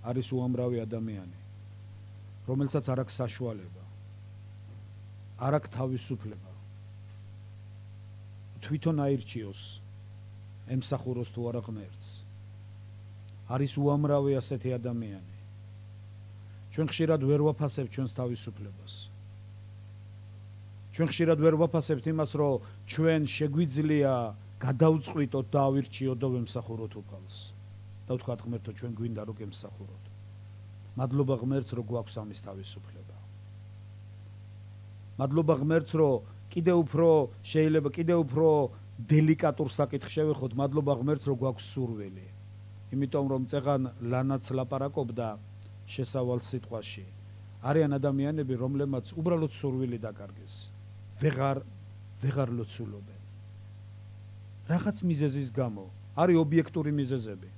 არის უამრავი ადამიანი, რომელსაც არ აქვს საშუალება, არ აქვს თავისუფლება, თვითონ აირჩიოს, ემსახუროს თუ არა ღმერთს. არის უამრავი ასეთი ადამიანი. ჩვენ ხშირად ვერ ვაფასებთ ჩვენს თავისუფლებას. ჩვენ ხშირად ვერ ვაფასებთ იმას, რომ ჩვენ შეგვიძლია გადავწყვიტოთ და ავირჩიოთ და ვემსახუროთ უფალს. და ვთქვათ ღმერთო, ჩვენ გვინდა რომ გემსახუროთ. მადლობა ღმერთს, რომ გვაქვს ამის თავისუფლება. მადლობა ღმერთს, რომ კიდევ უფრო დელიკატურ საკითხს შევეხოთ, მადლობა ღმერთს, რომ გვაქვს სურვილი. იმიტომ რომ წეღან ლანაც ლაპარაკობდა შესავალ სიტყვაში. არიან ადამიანები, რომლებმაც უბრალოდ სურვილი დაკარგეს. ვეღარ ლოცულობენ. რაღაც მიზეზის გამო, არის ობიექტური მიზეზები.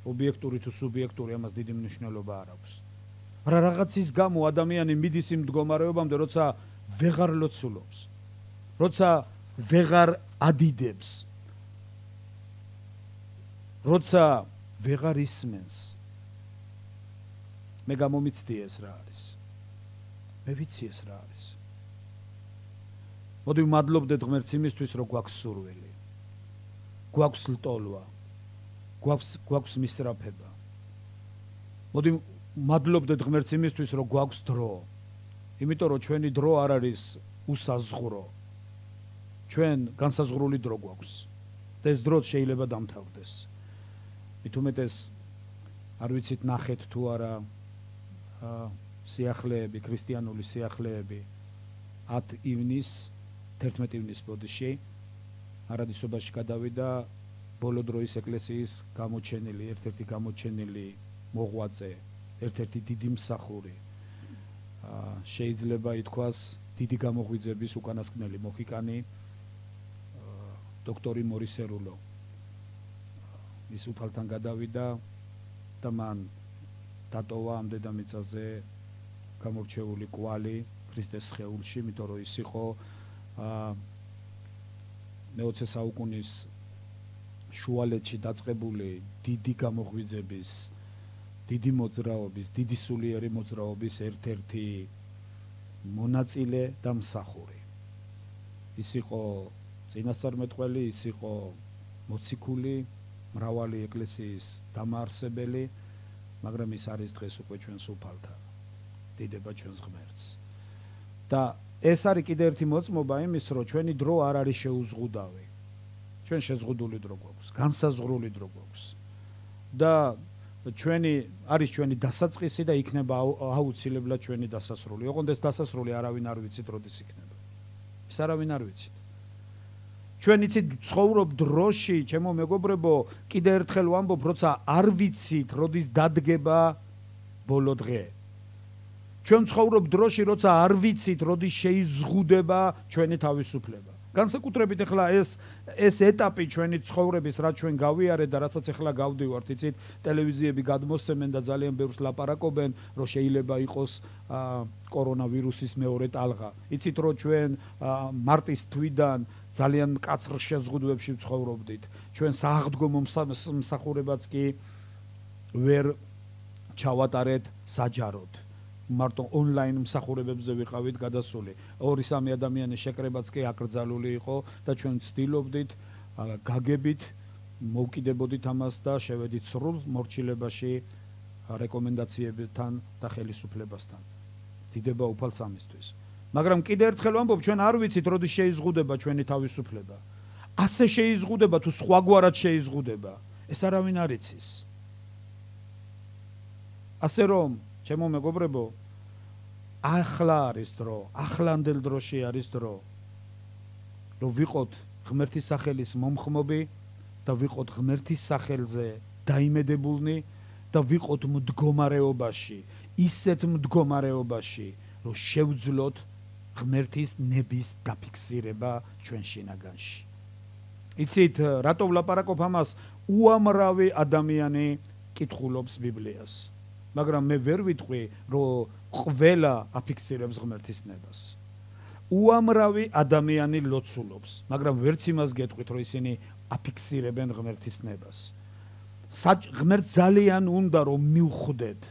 ობიექტური თუ სუბიექტური, ამას დიდი მნიშვნელობა არ აქვს. მაგრამ რაღაცის გამო ადამიანი მიდის იმ მდგომარეობამდე, როცა ვეღარ ლოცულობს, როცა ვეღარ ადიდებს, როცა ვეღარ ისმენს. მე გამომიცდი ეს რა არის. მე ვიცი ეს რა არის. მოდი ვმადლობდეთ ღმერთს იმისთვის, რომ გვაქვს სურვილი, გვაქვს ლტოლვა, გვაქვს მისწრაფება. მოდი ვმადლობდეთ ღმერთს იმისთვის, რომ გვაქვს დრო. იმიტომ რომ ჩვენი დრო არ არის უსაზღურო. ჩვენ განსაზღვრული დრო გვაქვს. და ეს დრო შეიძლება დამთავრდეს. მით უმეტეს არ ვიცით ნახეთ თუ არა სიახლეები, ქრისტიანული სიახლეები 10 ივნის 11 ივნის ბოდიში არადისობაში გადავიდა ბოლო დროის ეკლესიის გამოჩენილი, ერთ-ერთი გამოჩენილი მოღვაწე, ერთ-ერთი დიდი მსახური. შეიძლება ითქვას დიდი გამოღვიძების უკანასკნელი მოხიკანი დოქტორი მორისერულო. ის უფალთან გადავიდა და მან დატოვა ამ დედამიწაზე გამორჩეული კვალი ქრისტეს სხეულში, იმიტომ რომ ის იყო მე-20 საუკუნის შუალედში დაწყებული დიდი გამოღვიძების, დიდი მოძრაობის, დიდი სულიერი მოძრაობის ერთ-ერთი მონაწილე და მსახური. ის იყო წინასწარმეტყველი, ის იყო მოციქული, მრავალი ეკლესიის დამაარსებელი, მაგრამ ის არის დღეს უკვე ჩვენს უფალთან. დიდება ჩვენს ღმერთს. და ეს არის კიდე ერთი მოწმობა იმის, რომ ჩვენი დრო არ არის შეუზღუდავი. ჩვენ შეზღუდული დრო გვაქვს, განსაზღვრული დრო გვაქვს. და არის ჩვენი დასაწყისი და იქნება აუცილებლად ჩვენი დასასრული. ოღონდ ეს დასასრული არავინ არ ვიცით როდის იქნება. ეს არავინ არ ვიცით. ჩვენ იცით ცხოვრობ დროში, ჩემო მეგობრებო, კიდე ერთხელ ვამბობ, როცა არ ვიცით როდის დადგება ბოლო დღე. ჩვენ ცხოვრობ დროში, როცა არ ვიცით როდის შეიზღუდება ჩვენი თავისუფლება. განსაკუთრებით ახლა ეს ეტაპი ჩვენი ცხოვრების, რაც ჩვენ გავიარეთ და რასაც ახლა გავდივართ, იცით, ტელევიზიები გადმოსცემენ და ძალიან ბევრს ლაპარაკობენ, რომ შეიძლება იყოს კორონავირუსის მეორე ტალღა. იცით, რომ ჩვენ მარტის თვიდან ძალიან მკაცრ შეზღუდვებში ვცხოვრობდით. ჩვენ სააღდგომო მსახურებაც კი ვერ ჩავატარეთ საჯაროდ. მარტო ონლაინ მსახურებებზე ვიყავით გადასული. 2-3 ადამიანის შეკრებაც კი აკრძალული იყო და ჩვენ ვცდილობდით გაგებით მოვკიდებოდით ამას და შევედით სრულ მორჩილებაში რეკომენდაციებთან და ხელისუფლებასთან. დიდება უფალს ამისთვის. მაგრამ კიდე ერთხელ ვამბობ, ჩვენ არ ვიცით როდის შეიზღუდება ჩვენი თავისუფლება. ასე შეიზღუდება თუ სხვაგვარად შეიზღუდება, ეს არავინ არ იცის. ასე რომ, ჩემო მეგობრებო, ახლა არის დრო, ახლანდელ დროში არის დრო, რომ ვიყოთ ღმერთის სახელის მომხმობი და ვიყოთ ღმერთის სახელზე დაიმედებულნი და ვიყოთ მდგომარეობაში, ისეთ მდგომარეობაში, რომ შევძლოთ ღმერთის ნების დაფიქსირება ჩვენ შინაგანში. იცით, რატო ვლაპარაკობ ამას? უამრავი ადამიანი კითხულობს ბიბლიას. მაგრამ მე ვერ ვიტყვი, რომ ყველა აფიქსირებს ღმერთის ნებას. უამრავი ადამიანი ლოცულობს, მაგრამ ვერც იმას გეტყვით, რომ ისინი აფიქსირებენ ღმერთის ნებას. ღმერთს ძალიან უნდა რომ მივხვდეთ,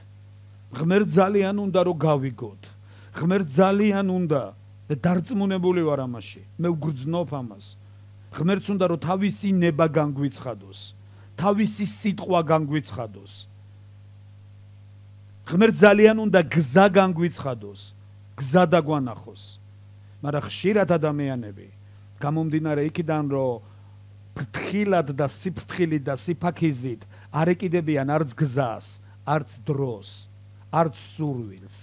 ღმერთს ძალიან უნდა რომ გავიგოთ, ღმერთს ძალიან უნდა და დარწმუნებული ვარ ამაში, მე ვგრძნობ ამას. ღმერთს უნდა რომ თავისი ნება განგვიცხადოს, თავისი სიტყვა განგვიცხადოს. ღმერთს ძალიან უნდა გზა განგვიცხადოს, გზა დაგვანახოს. მაგრამ ხშირად ადამიანები გამომდინარე იქიდან რომ ფრთხილად და სიფრთხილით და სიფაქიზით არ ეკიდებიან არც გზას, არც დროს, არც სურვილს,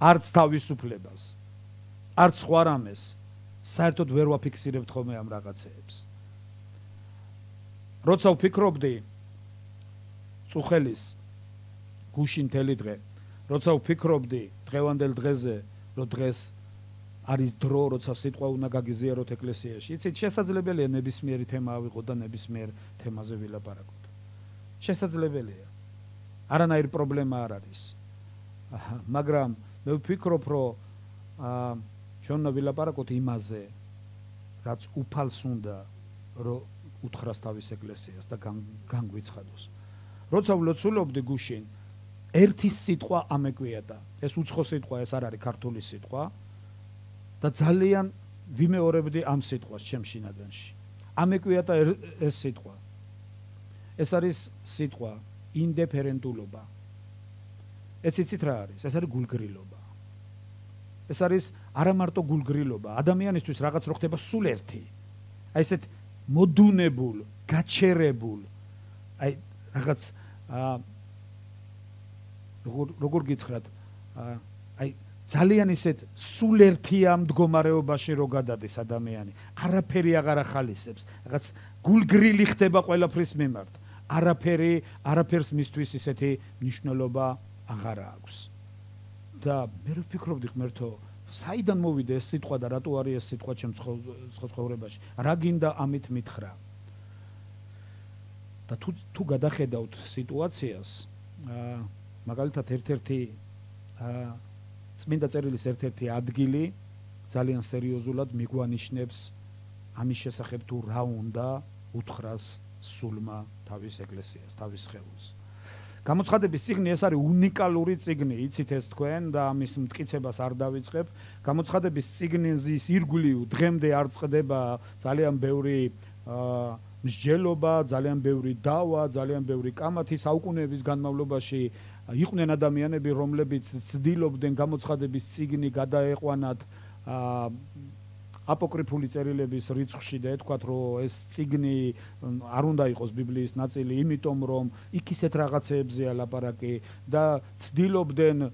არც თავისუფლებას, არც სხვა რამეს, საერთოდ ვერ ვაფიქსირებთ ხოლმე ამ რაღაცეებს. როცა ვფიქრობდი წუხელის გუშინ მთელი დღე, როცა ვფიქრობდი დღევანდელ დღეზე, რომ დღეს არის დრო, როცა სიტყვა უნდა გაგიზიაროთ ეკლესიაში. იცით, შესაძლებელია ნებისმიერი თემა ავიღოთ და ნებისმიერ თემაზე ვილაპარაკოთ. შესაძლებელია. არანაირი პრობლემა არ არის. მაგრამ მე ვფიქრობ, რომ ჩვენ უნდა ვილაპარაკოთ იმაზე, რაც უფალს უნდა, რომ უთხრას თავის ეკლესიას და განგვიცხადოს. როცა ვლოცულობდი გუშინ, ერთი სიტყვა ამეკვიატა. ეს უცხო სიტყვა, ეს არ არის ქართული სიტყვა. და ძალიან ვიმეორებდი ამ სიტყვას ჩემ შინაგანში. ამეკვიატა ეს სიტყვა. ეს არის სიტყვა ინდიფერენტულობა. ეს იცით რა არის? ეს არის გულგრილობა. ეს არის არა მარტო გულგრილობა, ადამიანისთვის რაღაც რო ხდება სულ ერთი. აი ესეთ მოდუნებულ, გაჩერებულ, აი რაღაც როგორ გიცხრათ, აი ძალიან ისეთ სულ ერთია მდგომარეობაში რო გადადის ადამიანი, არაფერი აღარ ახალისებს, რაღაც გულგრილი ხდება ყველაფრის მიმართ. არაფერს მისთვის ისეთი მნიშვნელობა აღარ აქვს. და მე ვფიქრობდი ღმერთო, საიდან მოვიდა ეს სიტყვა და რატო არის ეს სიტყვა ჩემ ცხოვრებაში? რა გინდა ამით მითხრა? და თუ გადახედავთ სიტუაციას, მაგალითად ერთ-ერთი წმინდა წერილის ერთ-ერთი ადგილი ძალიან სერიოზულად მიგვანიშნებს ამის შესახებ თუ რა უნდა უთხრას სულმა თავის ეკლესიას, თავის სხეულს. გამოცხადების წიგნი ეს არის უნიკალური წიგნი, იცით ეს თქვენ და ამის მტკიცებას არ დავიწყებ. გამოცხადების წიგნის ირგვლივ დღემდე არ წყდება ძალიან ბევრი მსჯელობა, ძალიან ბევრი დავა, ძალიან ბევრი კამათი. საუკუნეების განმავლობაში იყვნენ ადამიანები, რომლებიც ცდილობდნენ გამოცხადების წიგნი გადაეყვანათ აპოკრიფული წერილების რიცხვში და ეთქვათ, რომ ეს წიგნი არ უნდა იყოს ბიბლიის ნაწილი, იმიტომ რომ იქ ისეთ რაღაცეებზეა ლაპარაკი და ცდილობდნენ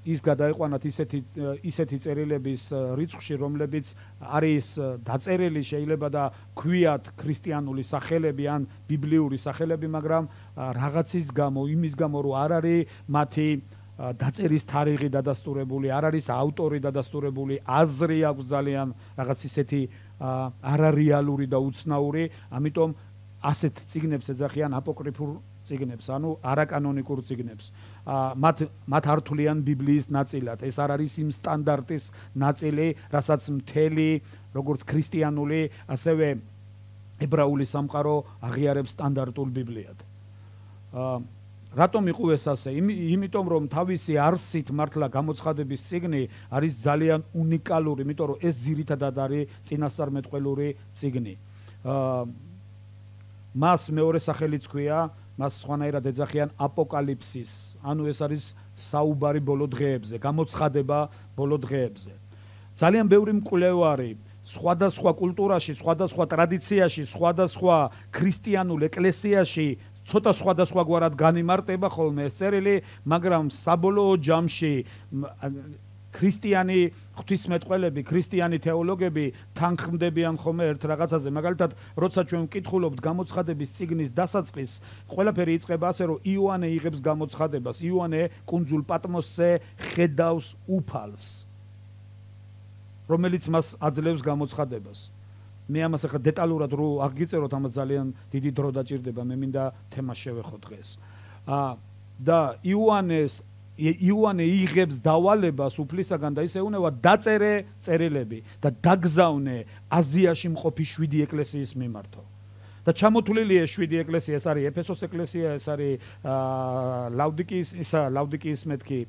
ის გადაეყვანათ ისეთი წერილების რიცხვში, რომლებიც არის დაწერილი შეიძლება და ქვიათ ქრისტიანული სახელები ან ბიბლიური სახელები, მაგრამ რაღაცის გამო, იმის გამო, რომ არ არის მათი დაწერის თარიღი დადასტურებული, არ არის ავტორი დადასტურებული, აზრი აქვს ძალიან რაღაც ისეთი არარეალური და უცნაური, ამიტომ ასეთ წიგნებს ეძახიან აპოკრიფულ წიგნებს, ანუ არაკანონიკურ წიგნებს. მათ არ თვლიან ბიბლიის ნაწილად. ეს არ არის იმ სტანდარტის ნაწილი, რასაც მთელი როგორც ქრისტიანული, ასევე ებრაული სამყარო აღიარებს სტანდარტულ ბიბლიად. რატომ იყუეს ასე? იმიტომ რომ თავისი არსით მართლა გამოცხადების წიგნი არის ძალიან უნიკალური, იმიტომ რომ ეს ძირითადად არის წინასწარმეტყველური წიგნი. მას მეორე სახელიც ქვია, მას სხვანაირად ეძახიან აპოკალიფსის, ანუ ეს არის საუბარი ბოლო დღეებზე, გამოცხადება ბოლო დღეებზე. ძალიან ბევრი მკვლევარი სხვადასხვა კულტურაში, სხვადასხვა ტრადიციაში, სხვადასხვა ქრისტიანულ ეკლესიაში ცოტა სხვადასხვაგვარად განიმარტება ხოლმე ეს წერილი, მაგრამ საბოლოო ჯამში ქრისტიანი ღვთისმეტყველები, ქრისტიანი თეოლოგები თანხმდებიან ხოლმე ერთ რაღაცაზე. მაგალითად, როცა ჩვენ ვკითხულობთ გამოცხადების წიგნის დასაწყისს, ყველაფერი იწყება ასე, რომ იოანე იღებს გამოცხადებას. იოანე კუნძულ პატმოსზე ხედავს უფალს, რომელიც მას აძლევს გამოცხადებას. მე ამას ახლა დეტალურად რო აღგიწეროთ, ამას ძალიან დიდი დრო დაჭირდება, მე მინდა თემას შევეხო დღეს. და იოანე იღებს დავალებას უფლისაგან და ისე უნევა დაწერე წერილები და დაგზავნე აზიაში მყოფი 7 ეკლესიის მიმართო. და ჩამოთვლილია 7 ეკლესია, ეს არის ეფესოს ეკლესია, ეს არის ლავდიკიის მეთქი,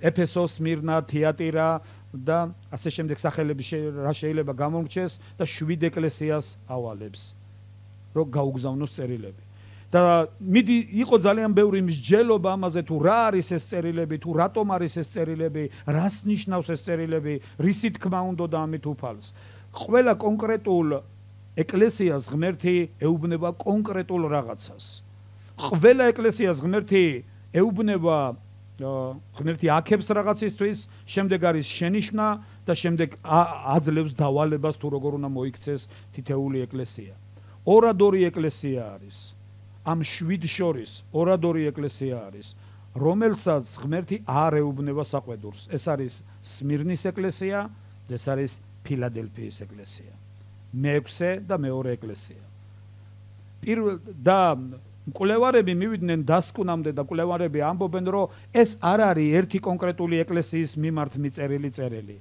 ეფესოს, სმირნა, თიატირა და ასე შემდეგ სახელები რა შეიძლება გამომრჩეს და 7 ეკლესიას ავალებს, რომ გაუგზავნოს წერილები. და მიდი იყო ძალიან ბევრი მსჯელობა ამაზე, თუ რა არის ეს წერილები, თუ რატომ არის ეს წერილები, რას ნიშნავს ეს წერილები, რისი თქმა უნდა ამით უფალს. ყველა კონკრეტულ ეკლესიას ღმერთი ეუბნება კონკრეტულ რაღაცას. ყველა ეკლესიას ღმერთი ეუბნება, ღმერთი აქებს რაღაცისთვის, შემდეგ არის შენიშვნა და შემდეგ აძლევს დავალებას, თუ როგორ უნდა მოიქცეს თითეული ეკლესია. ორადორი ეკლესია არის. ამ 7 შორის ორადორი ეკლესია არის, რომელსაც ღმერთი არ ეუბნება საყვედურს. ეს არის სმირნის ეკლესია და ეს არის ფილადელფიის ეკლესია. მეექვსე და მეორე ეკლესია. და მკვლევარები მივიდნენ დასკვნამდე და მკვლევარები ამბობენ, რომ ეს არ არის ერთი კონკრეტული ეკლესიის მიმართ მიწერილი წერილი.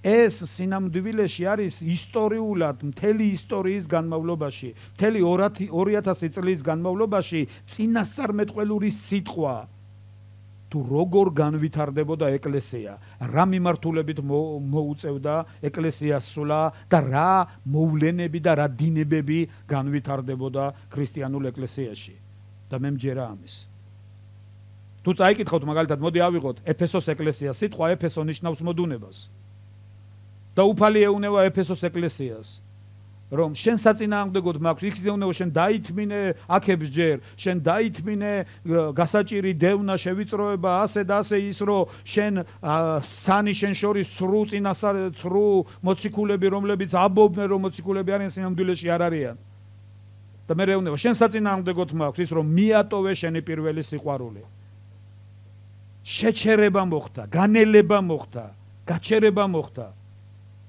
ეს სინამდვილეში არის ისტორიულად მთელი ისტორიის განმავლობაში, მთელი 2000 წლის განმავლობაში წინასწარმეტყველური სიტყვა, თუ როგორ განვითარდებოდა ეკლესია, რა მიმართულებით მოუწევდა ეკლესიას სულა და რა მოვლენები და რა დინებები განვითარდებოდა ქრისტიანულ ეკლესიაში. და მე მჯერა ამის. თუ წაიკითხავთ მაგალითად, მოდი ავიღოთ ეფესოს ეკლესია, სიტყვა ეფესო ნიშნავს მოდუნებას. და უფალი ეუნება ეფესოს ეკლესიას, რომ შენ საწინააღმდეგოდ მაქვს, იქ ეუნება შენ დაითმინე აქებს ჯერ, შენ დაითმინე გასაჭირი დევნა შევიწროება, ასე და ასე ის, რომ შენ სანი შენ შორის ცრუ მოციქულები, რომლებიც აბობდნენ, რომ მოციქულები არიან, სინამდვილეში არ არიან. და მე ეუნება შენ საწინააღმდეგოდ მაქვს ის, რომ მიატოვე შენი პირველი სიყვარული. შეჩერება მოხდა, განელება მოხდა, გაჩერება მოხდა.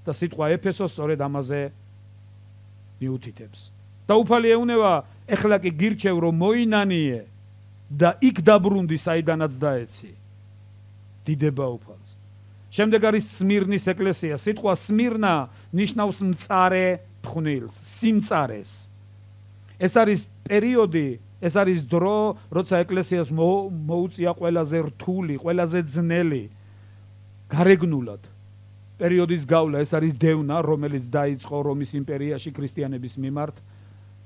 და სიტყვა ეფესოს სწორედ ამაზე მიუთითებს. და უფალი ეუნება, ეხლა კი გირჩევ, რომ მოინანიე და იქ დაბრუნდი, საიდანაც დაეცი. დიდება უფალს. შემდეგ არის სმირნის ეკლესია. სიტყვა სმირნა ნიშნავს მწარე ფხვნილს, სიმწარეს. ეს არის პერიოდი, ეს არის დრო, როცა ეკლესიას მოუწია ყველაზე რთული, ყველაზე ძნელი გარეგნულად პერიოდის გავლა. ეს არის დევნა, რომელიც დაიწყო რომის იმპერიაში ქრისტიანების მიმართ,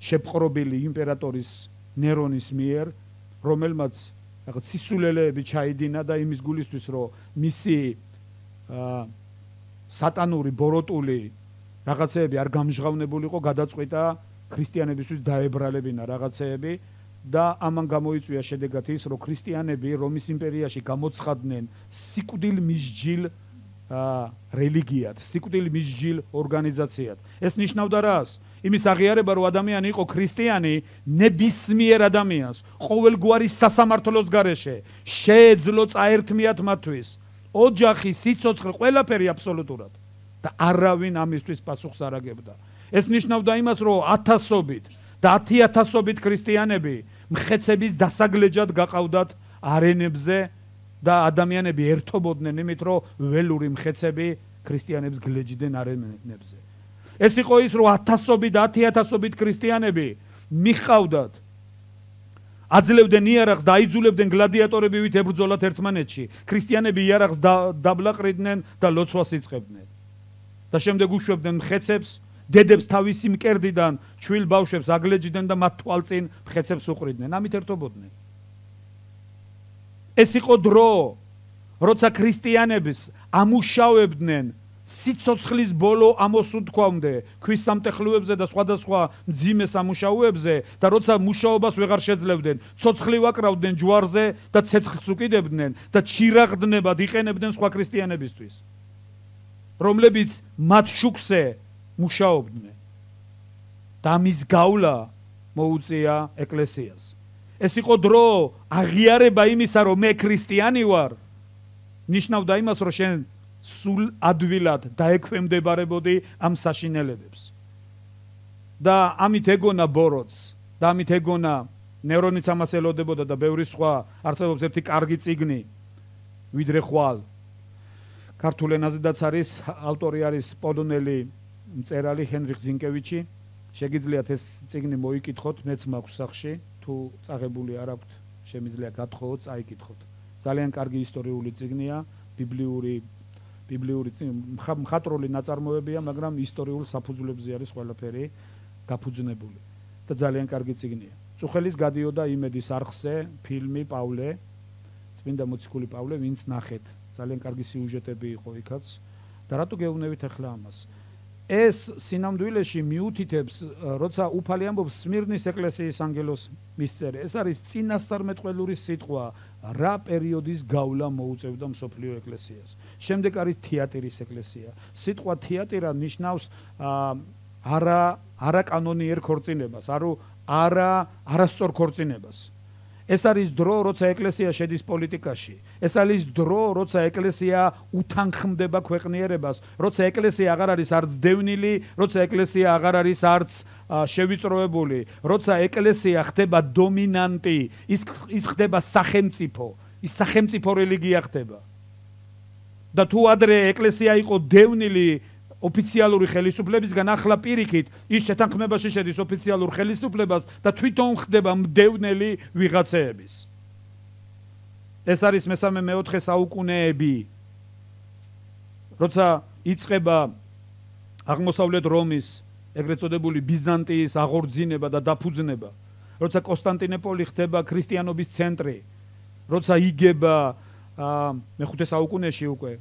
შეპყრობილი იმპერატორის ნერონის მიერ, რომელმაც რაღაც სისულელეები ჩაიდინა და იმის გულისთვის, რომ მისი სატანური ბოროტული რაღაცეები არ გამჟღავნებულიყო, გადაწყვიტა ქრისტიანებისთვის დაებრალებინა რაღაცეები და ამან გამოიწვია შედეგად ის, რომ ქრისტიანები რომის იმპერიაში გამოცხადდნენ სიკვდილ მისჯილ რელიგიად, სიკვდილ მისჯილ ორგანიზაციად. ეს ნიშნავდა რას? იმის აღიარება, რომ ადამიანი იყო ქრისტიანი, ნებისმიერ ადამიანს ყოველგვარი სასამართლოს გარეშე შეეძლო წაერთმიათ მათთვის ოჯახი, სიცოცხლე, ყველაფერი აბსოლუტურად და არავინ ამისთვის პასუხს არ აგებდა. ეს ნიშნავდა იმას, რომ ათასობით და 10,000-ობით ქრისტიანები მხეცების დასაგლეჯად გაყავდათ არენებზე და ადამიანები ერთობოდნენ იმით, რომ ველური მხეცები ქრისტიანებს გლეჯდნენ არენებზე. ეს იყო ის, რომ 1000-ობით და 10,000-ობით ქრისტიანები მიხავდათ, აძლევდნენ იარაღს და აიძულებდნენ გლადიატორები ვით ებრძოლათ ერთმანეთში. ქრისტიანები იარაღს დაბლაყრიდნენ და ლოცვას იწყებდნენ. და შემდეგ უშვებდნენ მხეცებს, დედებს თავისი მკერდიდან ჩვილ ბავშვებს აგლეჯდნენ და მათ თვალწინ მხეცებს უყრიდნენ. ამით ერთობოდნენ. ეს იყო დრო, როცა ქრისტიანებს ამუშავებდნენ სიცოცხლის ბოლო ამოსუნთქვამდე ქვის სამტეხლუებზე და სხვადასხვა მძიმე სამუშაოებზე და როცა მუშაობას ვეღარ შეძლებდნენ, ცოცხლი ვაკრავდნენ ჯვარზე და ცეცხლს უკიდებდნენ და ჩირაღდნებად იყენებდნენ სხვა ქრისტიანებისთვის, რომლებიც მათ შუქზე მუშაობდნენ. და მის გავლა მოუწია ეკლესიას. ეს იყო დრო, აღიარება იმისა, რომ მე ქრისტიანი ვარ, ნიშნავდა იმას, რომ შენ სულ ადვილად დაექვემდებარებოდი ამ საშინელებებს. და ამით ეგონა ბოროტს, და ამით ეგონა ნერონიც ამას ელოდებოდა და ბევრი სხვა, არსებობს ერთი კარგი წიგნი, ვიდრე ხვალ. ქართულ ენაზედაც არის, ავტორი არის პოლონელი მწერალი ჰენრიხ ზინკევიჩი, შეგიძლიათ ეს წიგნი მოიკითხოთ, მეც მაქვს სახში, თუ წაღებული არ აქვთ, შემიძლია გათხოვოთ, წაიკითხოთ. ძალიან კარგი ისტორიული წიგნია, ბიბლიური მხატვრული ნაწარმოებია, მაგრამ ისტორიულ საფუძვლებზე არის ყველაფერი გაფუძნებული და ძალიან კარგი წიგნია. წუხელის გადიოდა იმედის არხზე ფილმი პავლე, წმინდა მოციქული პავლე, ვინც ნახეთ. ძალიან კარგი სიუჟეტები იყო იქაც და რატო გეუბნებით ახლა ამას? ეს სინამდვილეში მიუთითებს, როცა უფალი ამბობს სმირნის ეკლესიის ანგელოს მისწერე, ეს არის წინასწარმეტყველური სიტყვა, რა პერიოდის გავლა მოუწევდა მსოფლიო ეკლესიას. შემდეგ არის თეატრის ეკლესია. სიტყვა თეატრა ნიშნავს არაკანონიერ ქორწინებას, არასწორ ქორწინებას. ეს არის დრო, როცა ეკლესია შედის პოლიტიკაში. ეს არის დრო, როცა ეკლესია უთანხმდება ქვეყნიერებას, როცა ეკლესია აღარ არის არც დევნილი, როცა ეკლესია აღარ არის არც შევიწროებული, როცა ეკლესია ხდება დომინანტი, ის ხდება სახელმწიფო, ის სახელმწიფო რელიგია ხდება. და თუ ადრე ეკლესია იყო დევნილი ოფიციალური ხელისუფლებისგან, ახლა პირიქით ის შეთანხმებაში შედის ოფიციალურ ხელისუფლებას და თვითონ ხდება მდევნელი ვიღაცეების. ეს არის მესამე-მეოთხე საუკუნეები, როცა იწყება აღმოსავლეთ რომის, ეგრეთ წოდებული ბიზანტიის აღორძინება და დაფუძნება, როცა კონსტანტინოპოლი ხდება ქრისტიანობის ცენტრი, როცა იგება მეხუთე საუკუნეში უკვე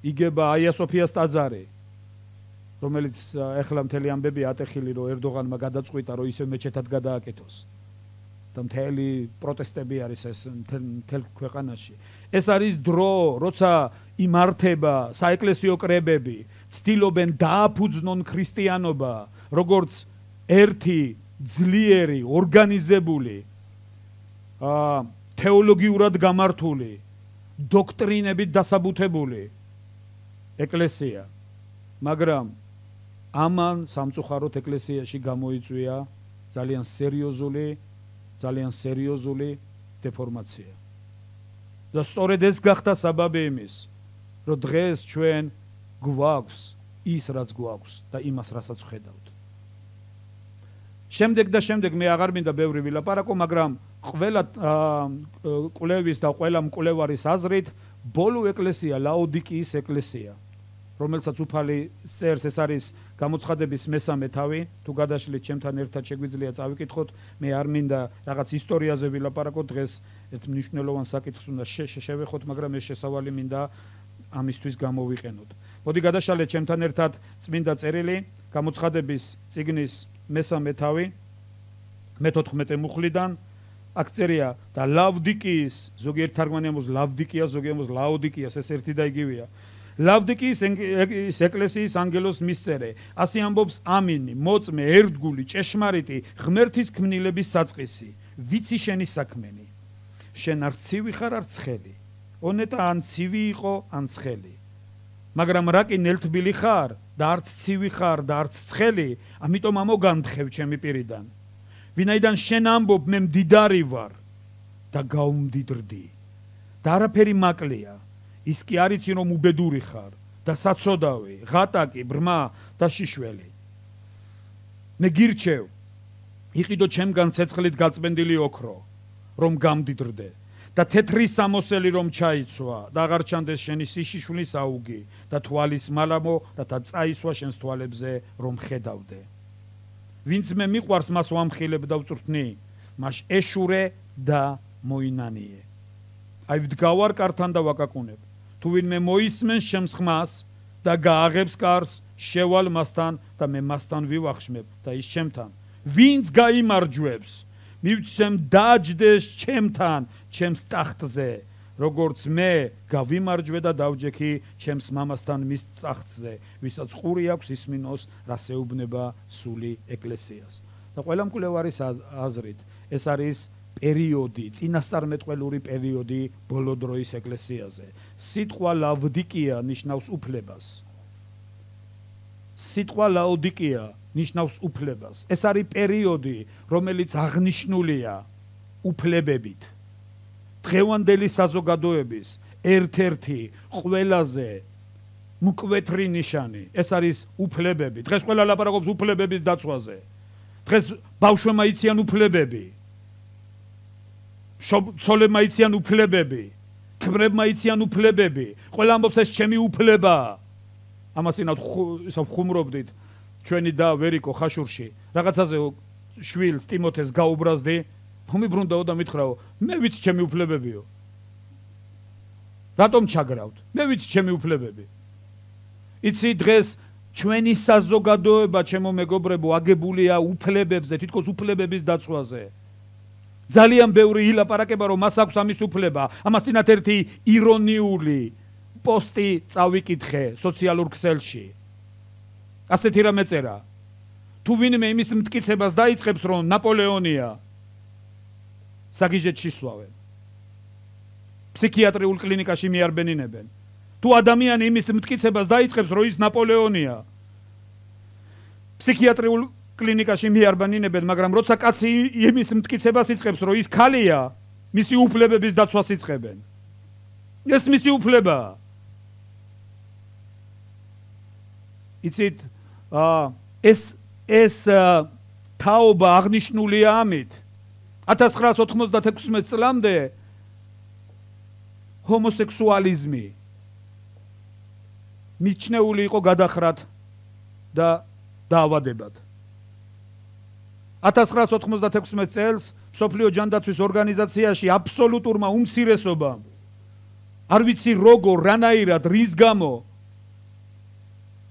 იგება აია სოფიას ტაძარი, რომელიც ეხლა მთელი ამბები ატეხილი, რომ ერდოღანმა გადაწყვიტა, რომ ისე მეჩეთად გადააკეთოს და მთელი პროტესტები არის ეს მთელ ქვეყანაში. ეს არის დრო, როცა იმართება საეკლესიო კრებები, ცდილობენ დააფუძნონ ქრისტიანობა, როგორც ერთი ძლიერი, ორგანიზებული, თეოლოგიურად გამართული, დოქტრინებით დასაბუთებული ეკლესია. მაგრამ ამან სამწუხაროდ ეკლესიაში გამოიწვია ძალიან სერიოზული დეფორმაცია. და სწორედ ეს გახდა საბაბი იმის, რომ დღეს ჩვენ გვაქვს ის, რაც გვაქვს და იმას, რასაც ვხედავთ. შემდეგ მე აღარ მინდა ბევრი ვილაპარაკო, მაგრამ ყველა კვლევის და ყველა მკვლევარის აზრით, ბოლო ეკლესია ლაოდიკიის ეკლესია, რომელსაც უფალი წერს, ეს არის გამოცხადების მესამე თავი. თუ გადაშლით ჩემთან ერთად შეგვიძლია წავიკითხოთ, მე არ მინდა რაღაც ისტორიაზე ვილაპარაკოთ, დღეს ერთ მნიშვნელოვან საკითხს უნდა შევეხოთ, მაგრამ ეს შესავალი მინდა ამისთვის გამოვიყენოთ. მოდი გადაშალეთ ჩემთან ერთად წმინდა წერილი, გამოცხადების წიგნის მესამე თავი, მე-14 მუხლიდან. აქ წერია და ლავდიკიის, ზოგიერთ თარგმანი ამბობს ლავდიკია, ზოგიერთი ამბობს ლაოდიკიას, ეს ერთი და იგივეა. ლავდიკიის ეკლესიის ანგელოს მისწერე, ასე ამბობს ამინი, მოწმე, ერთგული, ჭეშმარიტი, ღმერთის ქმნილების საწყისი, ვიცი შენი საქმენი. შენ არ ცივი ხარ, არ ცხელი. ონეტა ან ცივი იყო, ან ცხელი. მაგრამ რა კი ნელთბილი ხარ და არც ცივი ხარ და არც ცხელი, ამიტომ ამოგანთხევ ჩემი პირიდან. ვინაიდან შენ ამბობ, მე მდიდარი ვარ და გაუმდიდრდი და არაფერი მაკლია. ის კი არიცი, რომ უბედური ხარ და საცოდავი, ღატაკი, ბრმა და შიშველი. მე გირჩევ, იყიდო ჩემგან ცეცხლით გაწმენდილი ოქრო, რომ გამდიდრდე და თეთრი სამოსელი რომ ჩაიცვა და აღარ ჩანდეს შენი სიშიშვლის აუგი და თვალის მალამო, რათა წაისვა შენს თვალებზე რომ ხედავდე. ვინც მე მიყვარს, მას ვამხილებ და ვწვრთნი, მას ეშურე და მოინანიე. აი ვდგავარ კართან და ვაკაკუნებ. თუ ვინმე მოისმენს ჩემს ხმას და გააღებს კარს, შევალ მასთან და მე მასთან ვივახშმებ და ის ჩემთან. ვინც გაიმარჯვებს, მივცემ დაჯდეს ჩემთან, ჩემს ტახტზე, როგორც მე გავიმარჯვე და დავჯექი ჩემს მამასთან მის ტახტზე, ვისაც ყური აქვს ისმინოს, რას ეუბნება სული ეკლესიას. და ყველა მკვლევარის აზრით, ეს არის პერიოდი, წინასწარმეტყველური პერიოდი ბოლო დროის ეკლესიაზე. სიტყვა ლავდიკია ნიშნავს უფლებას. სიტყვა ლაოდიკია ნიშნავს უფლებას. ეს არის პერიოდი, რომელიც აღნიშნულია უფლებებით. დღევანდელი საზოგადოების ერთ-ერთი ყველაზე მკვეთრი ნიშანი, ეს არის უფლებები. დღეს ყველა ლაპარაკობს უფლებების დაცვაზე. დღეს ბავშვებმა იციან უფლებები, ცოლებმა იციან უფლებები, ქმრებმა იციან უფლებები, ყველა ამბობს ეს ჩემი უფლებაა. ამას წინათ ხუმრობდით ჩვენი და ვერიკო ხაშურში რაღაცაზე შვილს ტიმოთეს გაუბრაზდი, მომიბრუნდაო და მითხრაო, მე ვიცი ჩემი უფლებებიო. რატომ ჩაგრავთ? მე ვიცი ჩემი უფლებები. იცი დღეს ჩვენი საზოგადოება, ჩემო მეგობრებო, აგებულია უფლებებზე, თითქოს უფლებების დაცვაზე. ძალიან ბევრი ილაპარაკება, რომ მას აქვს ამის უფლება. ამას წინათ ერთი ირონიული პოსტი წავიკითხე სოციალურ ქსელში. ასეთი რამე წერა. თუ ვინმე იმის მტკიცებას დაიწყებს, რომ ნაპოლეონია საგიჟეთში სვავენ. ფსიქიატრიულ კლინიკაში მიარბენინებენ. თუ ადამიანი იმის მტკიცებას დაიწყებს, რომ ის ნაპოლეონია, ფსიქიატრიულ კლინიკაში მიარბენინებენ, მაგრამ როცა კაცი იმის მტკიცებას იწყებს, რომ ის ქალია, მისი უფლებების დაცვას იწყებენ. ეს მისი უფლებაა. იცით, ეს თაობა აღნიშნულია ამით. 1996 წლამდე ჰომოსექსუალიზმი მიჩნეული იყო გადახრად და დაავადებად. 1996 წელს მსოფლიო ჯანდაცვის ორგანიზაციაში აბსოლუტურმა უმცირესობამ, არ ვიცი როგორ, რანაირად, რის გამო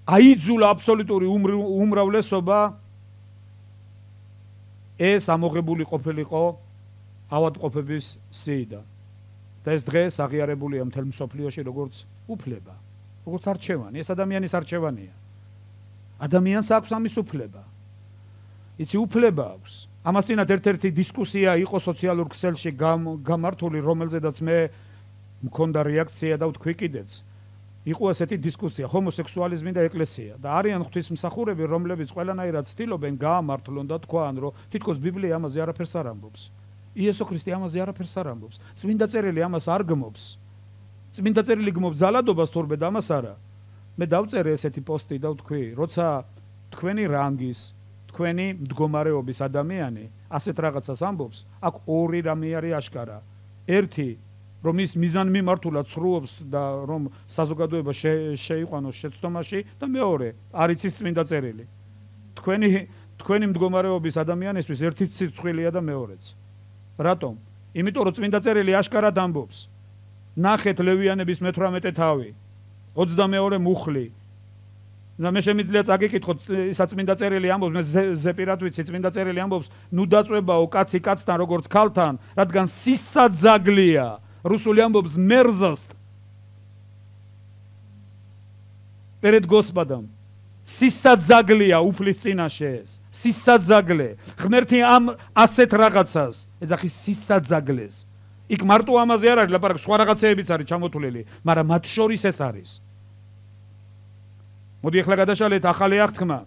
აიძულა აბსოლუტური უმრავლესობა ეს ამოღებული ყოფილიყო ავადმყოფების სიიდან. და ეს დღეს აღიარებულია მთელ მსოფლიოში როგორც უფლება, როგორც არჩევანი. ეს ადამიანის არჩევანია. ადამიანს აქვს ამის უფლება. იცი, უფლება აქვს. ამას წინათ ერთ-ერთი დისკუსია იყო სოციალურ ქსელში გამართული, რომელზედაც მე მქონდა რეაქცია და ვთქვი კიდეც. იყო ასეთი დისკუსია, ჰომოსექსუალიზმი და ეკლესია. და არიან ღვთისმსახურები, რომლებიც ყველანაირად ცდილობენ გაამართლონ და თქვან, რომ თითქოს ბიბლია ამაზე არაფერს არ ამბობს. იესო ქრისტე ამაზე არაფერს არ ამბობს. წმინდა წერილი ამას არ გმობს. წმინდა წერილი გმობს ძალადობას თორბე და ამას არა. მე დავწერე ესეთი პოსტი და ვთქვი, როცა თქვენი რანგის, თქვენი მდგომარეობის ადამიანი ასეთ რაღაცას ამბობს, აქ ორი რამე არის აშკარა. ერთი, რომ ის მიზანმიმართულად ცრუობს და რომ საზოგადოება შეიყვანოს შეცდომაში, და მეორე, არ იცის წმინდა წერილი. თქვენი მდგომარეობის ადამიანისთვის ერთი სირცხვილია და მეორეც. რატომ? იმიტომ რომ წმინდა წერილი აშკარად ამბობს. ნახეთ ლევიანების მე-18 თავი, 22 მუხლი. და მე შემიძლია წაგიკითხოთ, ისაც წმინდა წერილი ამბობს, მე ზეპირად ვიცი, წმინდა წერილი ამბობს, ნუ დაწვებაო კაცი კაცთან როგორც ქალთან, რადგან სისაძაგლია. რუსული ამბობს мерзость. перед Господом. სისაძაგლია უფლის წინაშე ეს. სისაძაგლე. ღმერთი ამ ასეთ რაღაცას ეძახის სისაძაგლეს. იქ მარტო ამაზე არ არის ლაპარაკი, სხვა რაღაცეებიც არის ჩამოთვლილი, მაგრამ მათ შორის ეს არის. მოდი ახლა გადაშალეთ ახალი აღთქმა.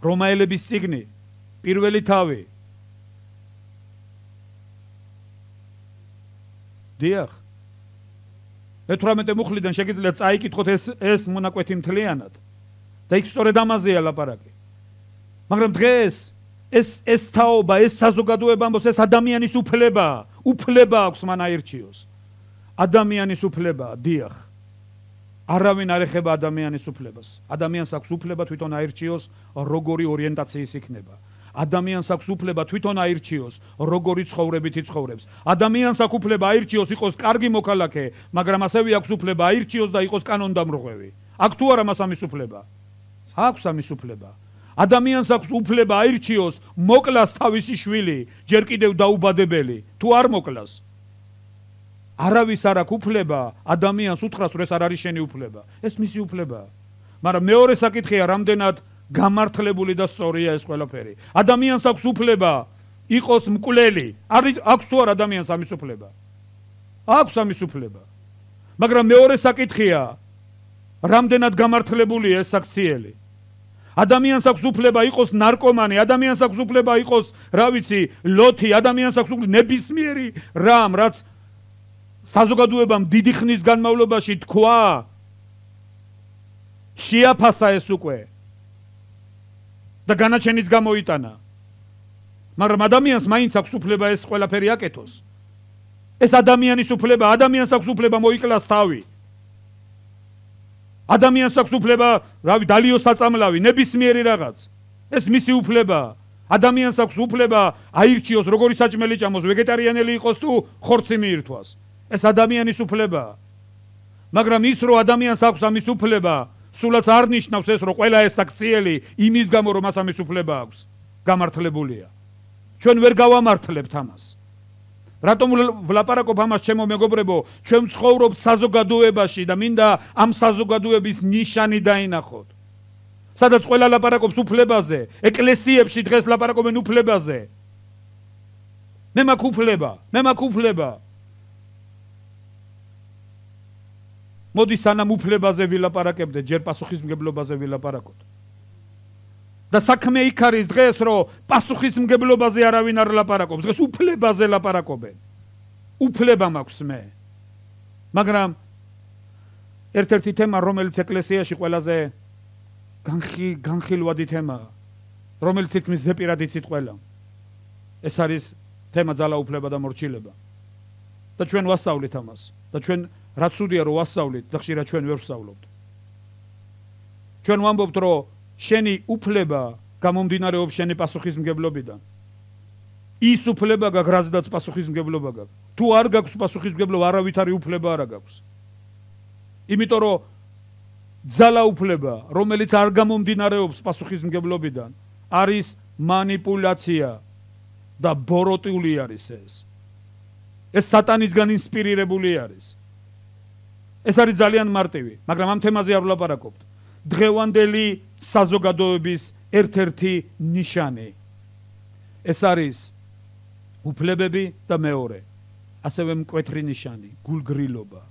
რომაელების წიგნი, პირველი თავი. დიახ. მე-18 მუხლიდან შეგიძლიათ წაიკითხოთ ეს მონაკვეთი მთლიანად. და იქ სწორედ ამაზეა ლაპარაკი. მაგრამ დღეს ეს თაობა, ეს საზოგადოება ამბობს, ეს ადამიანის უფლებაა. უფლება აქვს მან აირჩიოს. ადამიანის უფლებაა, დიახ. არავინ არ ეხება ადამიანის უფლებას. ადამიანს აქვს უფლება თვითონ აირჩიოს, როგორი ორიენტაციის იქნება. ადამიანს აქვს უფლება თვითონ აირჩიოს, როგორი ცხოვრებით იცხოვრებს. ადამიანს აქვს უფლება აირჩიოს, იყოს კარგი მოქალაქე, მაგრამ ასევე აქვს უფლება აირჩიოს და იყოს კანონდამრღვევი. აქვს თუ არა მას ამის უფლება? აქვს ამის უფლება. ადამიანს აქვს უფლება აირჩიოს, მოკლას თავისი შვილი, ჯერ კიდევ დაუბადებელი, თუ არ მოკლას. არავის არ აქვს უფლება ადამიანს უთხრას, რომ ეს არ არის შენი უფლება. ეს მისი უფლებაა. მაგრამ მეორე საკითხია, რამდენად გამართლებული და სწორია ეს ყველაფერი. ადამიანს აქვს უფლება იყოს მკვლელი. აქვს თუ არა ადამიანს ამის უფლება? აქვს ამის უფლება. მაგრამ მეორე საკითხია, რამდენად გამართლებულია ეს საქციელი. ადამიანს აქვს უფლება იყოს ნარკომანი, ადამიანს აქვს უფლება იყოს, რა ვიცი, ლოთი, ადამიანს აქვს უფლება ნებისმიერი რამ, რაც საზოგადოებამ დიდი ხნის განმავლობაში თქვა, შეაფასა ეს უკვე. და განაჩენიც გამოიტანა. მაგრამ ადამიანს მაინც აქვს უფლება ეს ყველაფერი აკეთოს. ეს ადამიანის უფლება, ადამიანს აქვს უფლება მოიკლას თავი. ადამიანს აქვს უფლება, რავი, დალიოს საწამლავი, ნებისმიერი რაღაც. ეს მისი უფლებაა. ადამიანს აქვს უფლება აირჩიოს, როგორი საჭმელი ჭამოს, ვეგეტარიანელი იყოს თუ ხორცი მიირთვას. ეს ადამიანის უფლებაა. მაგრამ ის რომ ადამიანს აქვს ამის უფლება, სულაც არ ნიშნავს ეს რომ ყველა ეს აქციელი იმის გამო რომ მას ამის უფლება აქვს, გამართლებულია. ჩვენ ვერ გავამართლებთ ამას. რატომ ვლაპარაკობ ამას, ჩემო მეგობრებო, ჩვენ ცხოვრობთ საზოგადოებაში და მინდა ამ საზოგადოების ნიშანი დაინახოთ. სადაც ყველა ლაპარაკობს უფლებაზე, ეკლესიებში დღეს ლაპარაკობენ უფლებაზე. მე მაქვს უფლება. მოდი სანამ უფლებაზე ვილაპარაკებდეთ, ჯერ პასუხისმგებლობაზე ვილაპარაკოთ. და საქმე იქ არის დღეს, რომ პასუხისმგებლობაზე არავინ არ ლაპარაკობს, დღეს უფლებაზე ლაპარაკობენ. უფლება მაქვს მე. მაგრამ ერთ-ერთი თემა, რომელიც ეკლესიაში ყველაზე განხილვადი თემაა, რომელიც თითქმის ზეპირად იცით ყველა. ეს არის თემა ძალაუფლება და მორჩილება. და ჩვენ ვასწავლით ამას. და ჩვენ რაც უდია რომ ვასწავლით და ხშირად ჩვენ ვერ ვსწავლობთ. ჩვენ ვამბობთ რომ შენი უფლება გამომდინარეობს შენი პასუხისმგებლობიდან. ის უფლება გაქვს, რაზედაც პასუხისმგებლობა გაქვს. თუ არ გაქვს პასუხისმგებლობა, არავითარი უფლება არ გაქვს. იმიტომ რომ ძალაუფლება, რომელიც არ გამომდინარეობს პასუხისმგებლობიდან, არის მანიპულაცია და ბოროტული არის ეს. ეს სატანისგან ინსპირირებული არის. ეს არის ძალიან მარტივი, მაგრამ ამ თემაზე არ ვლაპარაკობთ. დღევანდელი საზოგადოების ერთ-ერთი ნიშანი. ეს არის უფლებები და მეორე, ასევე მკვეთრი ნიშანი, გულგრილობა.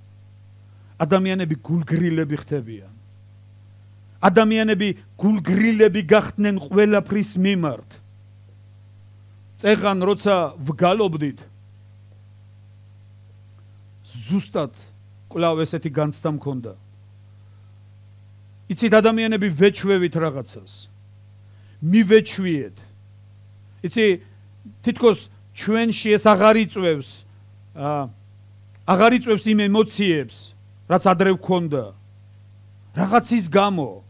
ადამიანები გულგრილები ხდებიან. ადამიანები გულგრილები გახდნენ ყველაფრის მიმართ. წეღან როცა ვგალობდით, ზუსტად კვლავ ესეთი განცდა მქონდა. იცით, ადამიანები ვეჩვევით რაღაცას. მივეჩვიეთ. იცი, თითქოს ჩვენში ეს აღარ იწვევს იმ ემოციებს, რაც ადრე ვქონდა. რაღაცის გამო.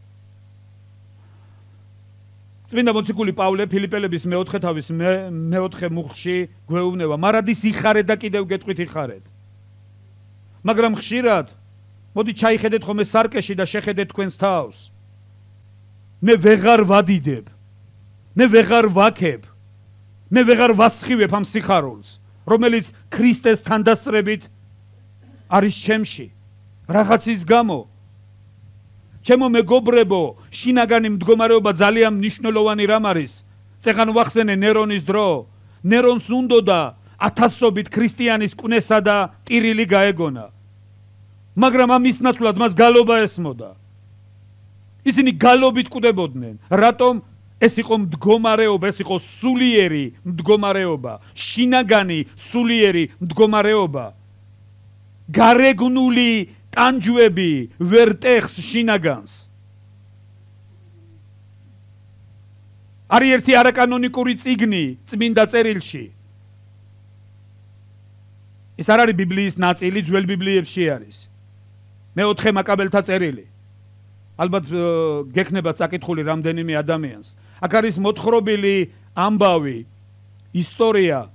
წმინდა მოციქული პავლე ფილიპელების მეოთხე თავის მეოთხე მუხლში გვეუბნება, მარადის იხარეთ და კიდევ გეტყვით იხარეთ. მაგრამ ხშირად მოდი ჩაიხედეთ ხოლმე სარკეში და შეხედეთ თქვენს თავს. მე ვეღარ ვადიდებ. მე ვეღარ ვაქებ. მე ვეღარ ვასხივებ ამ სიხარულს, რომელიც ქრისტეს თანდასწრებით არის ჩემში. რაღაცის გამო. ჩემო მეგობრებო, შინაგანი მდგომარეობა ძალიან მნიშვნელოვანი რამ არის. წეღან ვახსენე ნერონის დრო. ნერონს უნდოდა ათასობით ქრისტიანის კვნესა და ტირილი გაეგონა. მაგრამ ამის ნაცვლად მას გალობა ესმოდა. ისინი გალობით კვდებოდნენ. რატომ? ეს იყო მდგომარეობა, ეს იყო სულიერი მდგომარეობა, შინაგანი სულიერი მდგომარეობა. გარეგნული ტანჯვები ვერ ტეხს შინაგანს. არის ერთი არაკანონიკური წიგნი წმინდა წერილში. ეს არ არის ბიბლიის ნაწილი, ძველ ბიბლიებში არის. მეოთხე მაკაბელთა წერილი. ალბათ გექნებათ საკითხული რამდენიმე ადამიანს. აქ არის მოთხრობილი ამბავი, ისტორია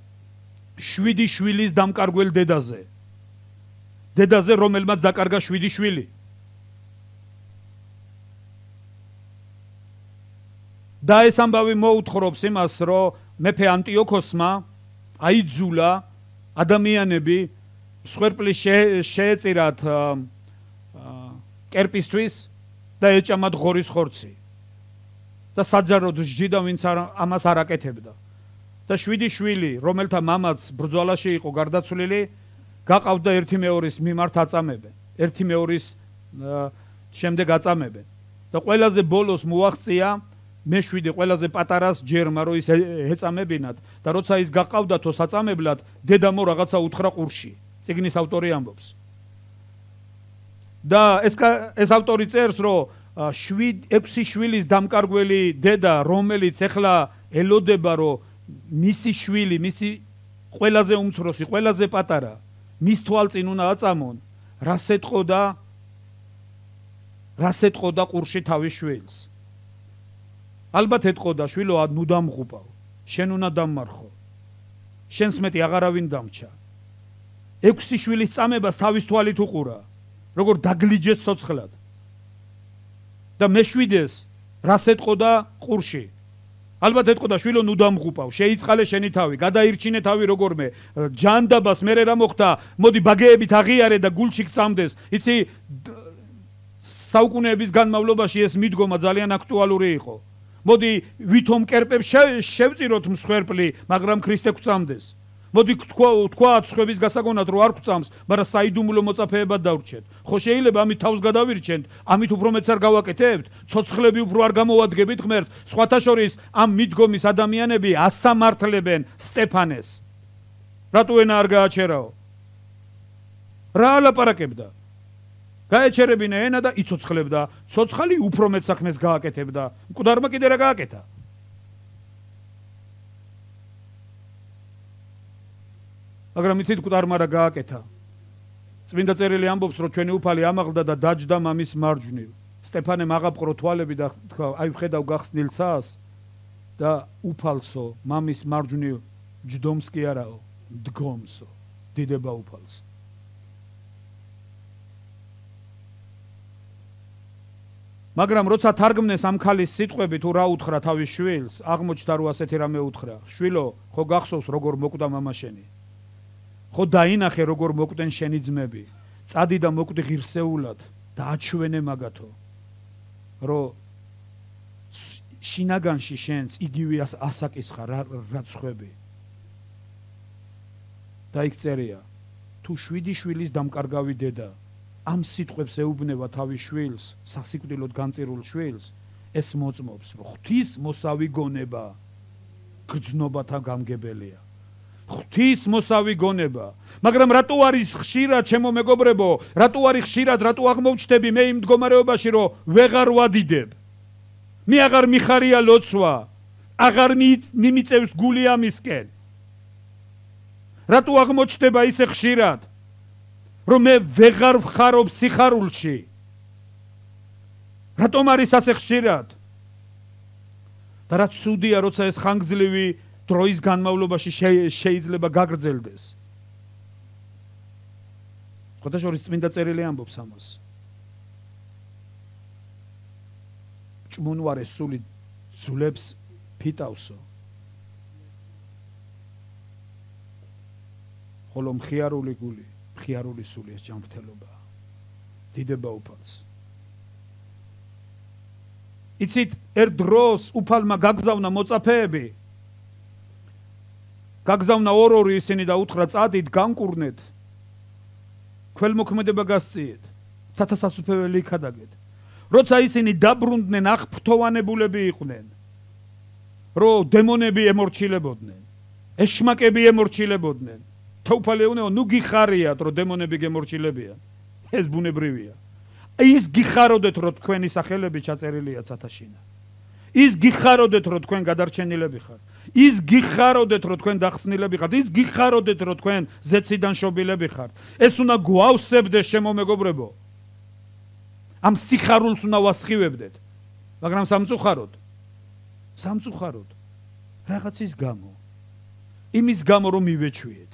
7 შვილის დამკარგველ დედაზე. დედაზე, რომელმაც დაკარგა 7 შვილი. და ეს ამბავი მოუთხრობს იმას, რომ მეფე ანტიოქოსმა აიძულა ადამიანები სხერპლის შეეწირათ კერპისთვის და ეჭამათ ღორის ხორცი. და საჯაროდ სჯიდა, ვინც ამას არ აკეთებდა. და 7 შვილი, რომელთა მამაც ბრძოლაში იყო გარდაცვლილი, გაყავდა ერთი მეორის მიმართ აწამებენ. ერთი მეორის შემდეგ აწამებენ. და ყველაზე ბოლოს მოაღწია მე-7 ყველაზე პატარას ჯერმა, რომ ის ეწამებინათ და როცა ის გაყავდათო საწამებლად, დედამო რაღაცა უთხრა ყურში. წიგნის ავტორი ამბობს. და ეს ავტორი წერს, რომ 6 შვილის დამკარგველი დედა, რომელიც ეხლა ელოდება, რომ მისი შვილი, მისი ყველაზე უმცროსი, ყველაზე პატარა, მის თვალწინ უნდა აწამონ, რას ეტყოდა ყურში თავის შვილს. ალბათ ეტყოდა, შვილო, ნუ დამღუპავ, შენ უნდა დამმარხო. შენს მეტი აღარავინ დამჩა. 6 შვილის წამებას თავის თვალით უყურა, როგორ დაგლიჯეს ცოცხლად. და მე-7-ს რას ეტყოდა ყურში? ალბათ ეტყოდა, შვილო, ნუ დამღუპავ, შეიწყალე შენი თავი, გადაირჩინე თავი როგორმე, ჯანდაბას მერე რა მოხდა, მოდი ბაგეებით აღიარე და გულში გწამდეს. იცი, საუკუნეების განმავლობაში ეს მიდგომა ძალიან აქტუალური იყო. მოდი ვითომ კერპებს შევწიროთ მსხვერპლი, მაგრამ ქრისტე გვწამდეს. მოდი თქვა სხვების გასაგონად რომ არ გვწამს, მაგრამ საიდუმლო მოწაფეებად დავრჩეთ. ხო შეიძლება ამით თავს გადავირჩენთ, ამით უფრო მეც არ გავაკეთებთ, ცოცხლები უფრო არ გამოვადგებით ღმერთს. სხვათა შორის ამ მიდგომის ადამიანები ასამართლებენ სტეფანეს. რატო ენა არ გააჩერაო? რა ალაპარაკებდა? გაეჩერებინა ენა და იცოცხლებდა. ცოცხალი უფრო მეც საქმეს გააკეთებდა. მკვდარმა კიდე რა გააკეთა? მაგრამ იცით მკვდარმა რა გააკეთა? წმინდა წერილი ამბობს, რომ ჩვენი უფალი ამაღლდა და დაჯდა მამის მარჯვნივ. სტეფანემ აღაპყრო თვალები და თქვა, აი ვხედავ გახსნილ ცას და უფალსო, მამის მარჯვნივ ჯდომს კი არაო, დგომსო, დიდება უფალს. მაგრამ როცა თარგმნეს ამ ქალის სიტყვები თუ რა უთხრა თავის შვილს, აღმოჩნდა რომ ასეთი რამე უთხრა. შვილო, ხო გახსოვს როგორ მოკვდა მამა შენი? ხო დაინახე როგორ მოკვდნენ შენი ძმები. წადი და მოკვდი ღირსეულად და აჩვენე მაგათო, რომ შინაგანში შენც იგივე ასაკისხა რაც ხვები. და იქ წერია, თუ 7 შვილის დამკარგავი დედა ამ სიტყვებს ეუბნება თავის შვილს, სასიკვდილოდ განწირულ შვილს, ეს მოწმობს, რომ ღვთის მოსავი გონება გრძნობათა გამგებელია. ღვთის მოსავი გონება. მაგრამ რატო არის ხშირად, ჩემო მეგობრებო, რატო არის ხშირად, რატო აღმოჩნდები მე იმ მდგომარეობაში, რომ ვეღარ ვადიდებ? მე აღარ მიხარია ლოცვა, აღარ მიმიწევს გული ამისკენ. რატო აღმოჩნდება ისე ხშირად, რომ მე ვეღარ ვხარობ სიხარულში? რატომ არის ასე ხშირად? და რაც ცუდია, როცა ეს ხანგრძლივი დროის განმავლობაში შეიძლება გაგრძელდეს. ხოთა შორის წმინდა წერილი ამბობს ამას. ჭმუნვარე სული ძულებს ფიტავსო. ხოლო მხიარული გული, მხიარული სული ეს ჯანმრთელობაა. დიდება უფალს. იცით, ერთ დროს უფალმა გაგზავნა მოწაფეები. გაგზავნა ორ-ორი ისინი და უთხრა, წადით, განკურნეთ. ქველმოქმედება გასწიეთ. სათასასუფეველი იქადაგეთ. როცა ისინი დაბრუნდნენ, აღფრთოვანებულები იყვნენ. რომ დემონები ემორჩილებოდნენ. ეშმაკები ემორჩილებოდნენ. თაუფალი ეუბნება, ნუ გიხარიათ, რომ დემონები გემორჩილებიან. ეს ბუნებრივია. ის გიხაროდეთ, რომ თქვენი სახელები ჩაწერილია ცათაშინა. ის გიხაროდეთ, რომ თქვენ გადარჩენილები ხართ. ის გიხაროდეთ, რომ თქვენ დახსნილები ხართ. ის გიხაროდეთ, რომ თქვენ ზეციდან შობილები ხართ. ეს უნდა გვავსებდეს, შემო მეგობრებო. ამ სიხარულს უნდა ვასხივებდეთ. მაგრამ სამწუხაროდ რაღაცის გამო. იმის გამო, რომ მივეჩვიეთ.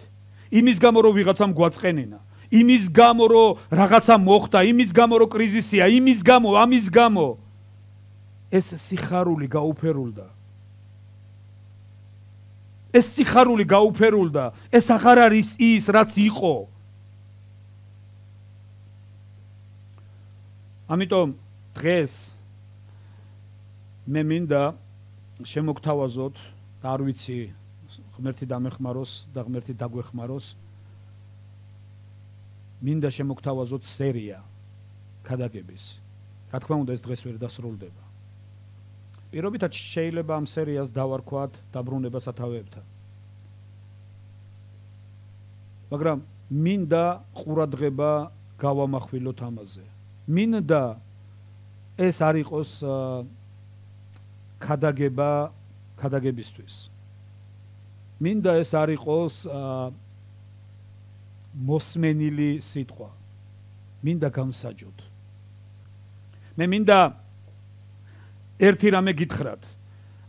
იმის გამო, რომ ვიღაცამ გვაწყენინა. იმის გამო, რომ რაღაცა მოხდა, იმის გამო, რომ კრიზისია, იმის გამო, ამის გამო. ეს სიხარული გაუფერულდა. ეს სიხარული გაუფერულდა. ეს აღარ არის ის, რაც იყო. ამიტომ დღეს მე მინდა შემოგთავაზოთ და არ ვიცი ღმერთი დამეხმაროს და ღმერთი დაგვეხმაროს. მინდა შემოგთავაზოთ სერია ქადაგების. რა თქმა უნდა, ეს დღეს ვერ დასრულდება. პირობითად შეიძლება ამ სერიას დავარქვათ დაბრუნება სათავეებთან. მაგრამ მინდა ყურადღება გავამახვილოთ ამაზე. მინდა ეს არ იყოს ქადაგებისთვის. მინდა ეს არ იყოს მოსმენილი სიტყვა. მინდა გამსაჯოთ. მე მინდა ერთი რამე გითხრათ.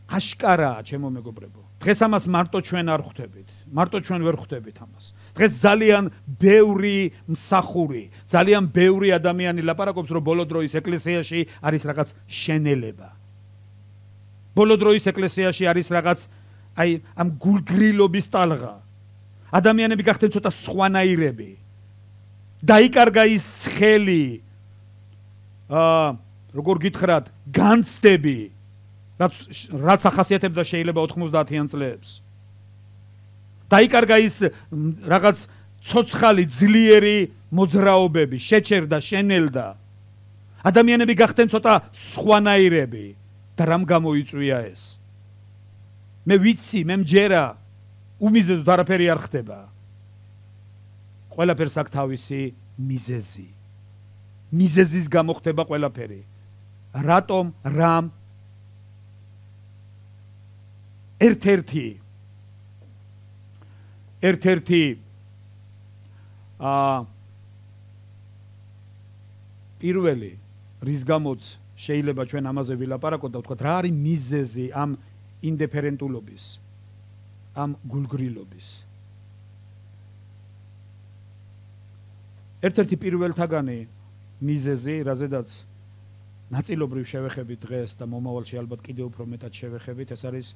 აშკარაა, ჩემო მეგობრებო. დღეს ამას მარტო ჩვენ არ ხვდებით. მარტო ჩვენ ვერ ხვდებით ამას. დღეს ძალიან ბევრი მსახური, ძალიან ბევრი ადამიანი ლაპარაკობს, რომ ბოლო დროის ეკლესიაში არის რაღაც შენელება. ბოლო დროის ეკლესიაში არის რაღაც ამ გულგრილობის ტალღა. ადამიანები გახდნენ ცოტა სხვანაირები. დაიკარგა ის ცხელი, როგორ გითხრათ, განცდები, რაც ახასიათებდა შეიძლება 90-იან წლებს. დაიკარგა ის რაღაც ცოცხალი, ძლიერი მოძრაობები, შეჩერდა, შენელდა. ადამიანები გახდნენ ცოტა სხვანაირები და რამ გამოიწვია ეს? მე ვიცი, მე მჯერა, უმიზედოდ არაფერი არ ხდება. ყველაფერს აქვს თავისი მიზეზი. მიზეზის გამო ხდება ყველაფერი. რატომ, რამ? ერთ-ერთი პირველი, რის გამოც შეიძლება ჩვენ ამაზე ვილაპარაკოთ და ვთქვათ, რა არის მიზეზი ამ ინდიფერენტულობის, ამ გულგრილობის. ერთ-ერთი პირველთაგანი მიზეზი, რაზედაც ნაწილობრივ შევეხებით დღეს და მომავალში ალბათ კიდევ უფრო მეტად შევეხებით, ეს არის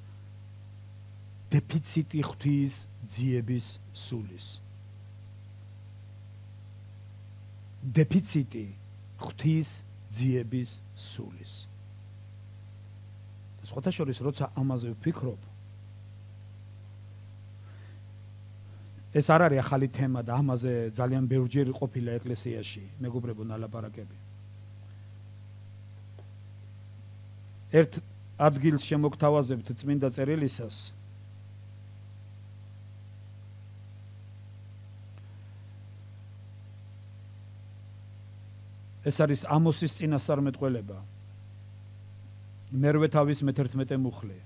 დეფიციტი ღვთის ძიების სულის. დეფიციტი ღვთის ძიების სულის. სხვათა შორის, როცა ამაზე ვფიქრობ, ეს არ არის ახალი თემა და ამაზე ძალიან ბევრჯერ ყოფილა ეკლესიაში, მეგობრებო, ნალაპარაკები. ერთ ადგილს შემოგთავაზებთ წმინდა წერილისას. ეს არის ამოსის წინასწარმეტყველება. მერვე თავის მე-11 მუხლი.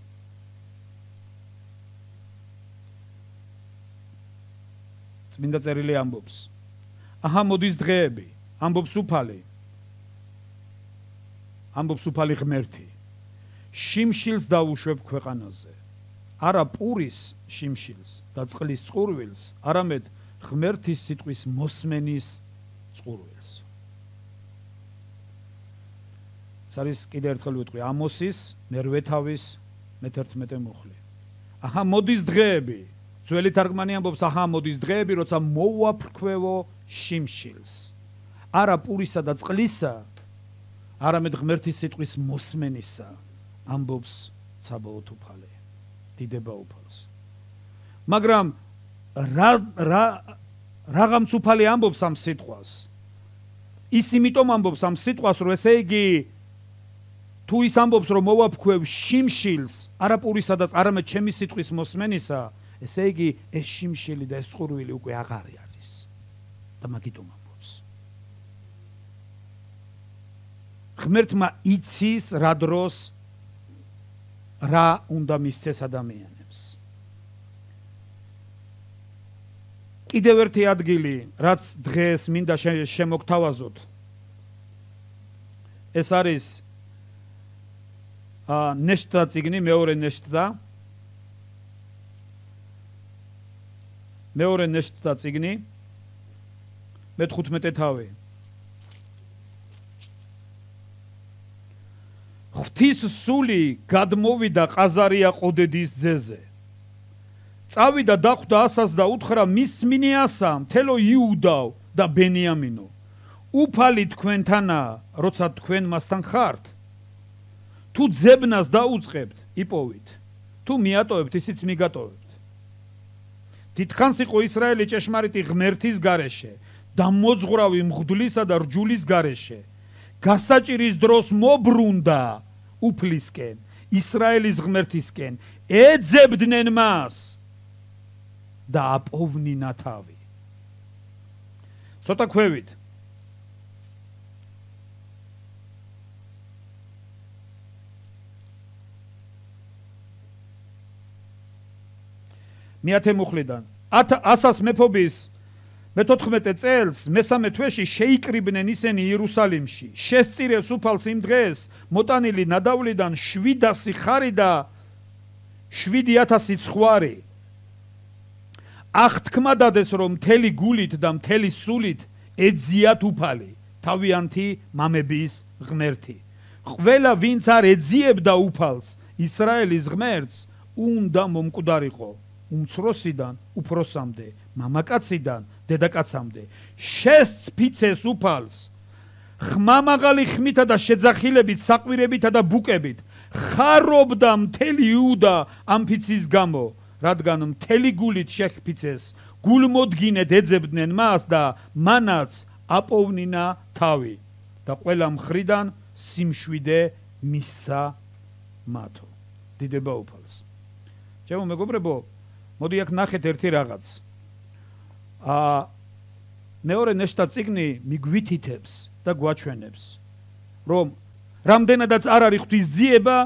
წმინდა წერილი ამბობს: აჰა, მოდის დღეები, ამბობს უფალი ღმერთი. შიმშილს დავუშვებ ქვეყანაზე. არა პურის შიმშილს და წყლის წყურვილს, არამედ ღმერთის სიტყვის მოსმენის წყურვილს. ეს არის კიდევ ერთხელ ვიტყვი, ამოსის მერვე თავის მე-11 მუხლი. აჰა, მოდის დღეები. ძველი თარგმანი ამბობს, აჰა, მოდის დღეები, როცა მოვაფრქვევო შიმშილს. არა პურისა და წყლისა, არამედ ღმერთის სიტყვის მოსმენისა, ამბობს ცაბაოთ უფალი, დიდება უფალს. მაგრამ რაღაცა უფალი ამბობს ამ სიტყვას. ის იმიტომ ამბობს ამ სიტყვას, რომ ესე იგი თუ ის ამბობს, რომ მოვაფრქვევ შიმშილს, არა პურისა და არამედ ჩემი სიტყვის მოსმენისა, ესე იგი ეს შიმშილი და ეს წყურვილი უკვე აღარ არის და მაგიტომ ამბობს. ღმერთმა იცის რა დროს რა უნდა მისცეს ადამიანებს. კიდევ ერთი ადგილი, რაც დღეს მინდა შემოგთავაზოთ, ეს არის ნეშტა წიგნი, მეორე ნეშტა წიგნი, მე-15 თავი. ღვთის სული გადმოვიდა ყაზარია ყოდედის ძეზე. წავიდა დახვდა ასას და უთხრა მის მინიასა, მთელო იუდაო და ბენიამინო. უფალი თქვენთანაა, როცა თქვენ მასთან ხართ. თუ ძებნას დაუწყებთ, იპოვით. თუ მიატოვებთ, ისიც მიგატოვებთ. დიდხანს იყო ისრაელი ჭეშმარიტი ღმერთის გარეშე და მოძღვრავი მღვდლისა და რჯულის გარეშე. გასაჭირის დროს მობრუნდა უფლისკენ, ისრაელის ღმერთისკენ, ეძებდნენ მას და აპოვნინა თავი. ცოტა ქვევით. მეათე მუხლიდან 100-ას მეფობის მე-14 წელს მესამე თვეში შეიკრიბნენ ისინი იერუსალიმში. შესწირებს უფალს იმ დღეს მოტანილი ნადავლიდან 700 ხარი და 7000 ცხვარი. აღთქმა დადეს, რომ მთელი გულით და მთელი სულით ეძიათ უფალი, თავიანთი მამების ღმერთი. ყველა ვინც არ ეძიებდა უფალს, ისრაელის ღმერთს, უნდა მომკვდარიყო, უმცროსიდან უფროსამდე, მამაკაციდან დედაკაცამდე. შესწფიცეს უფალს, ხმამაღალი ხმითა და შეძახილებით, საყვირებითა და ბუკებით. ხარობდა მთელი იუდა ამ ფიცის გამო, რადგან მთელი გულით შეჰფიცეს, გულმოდგინედ ეძებდნენ მას და მანაც აპოვნინა თავი და ყველა მხრიდან სიმშვიდე მისცა მათო. დიდება უფალს. ჩემო მეგობრებო, მოდი აქ ნახეთ ერთი რაღაც. მეორე ნეშტა წიგნი მიგვითითებს და გვაჩვენებს, რომ რამდენადაც არ არის ღვთისძიება,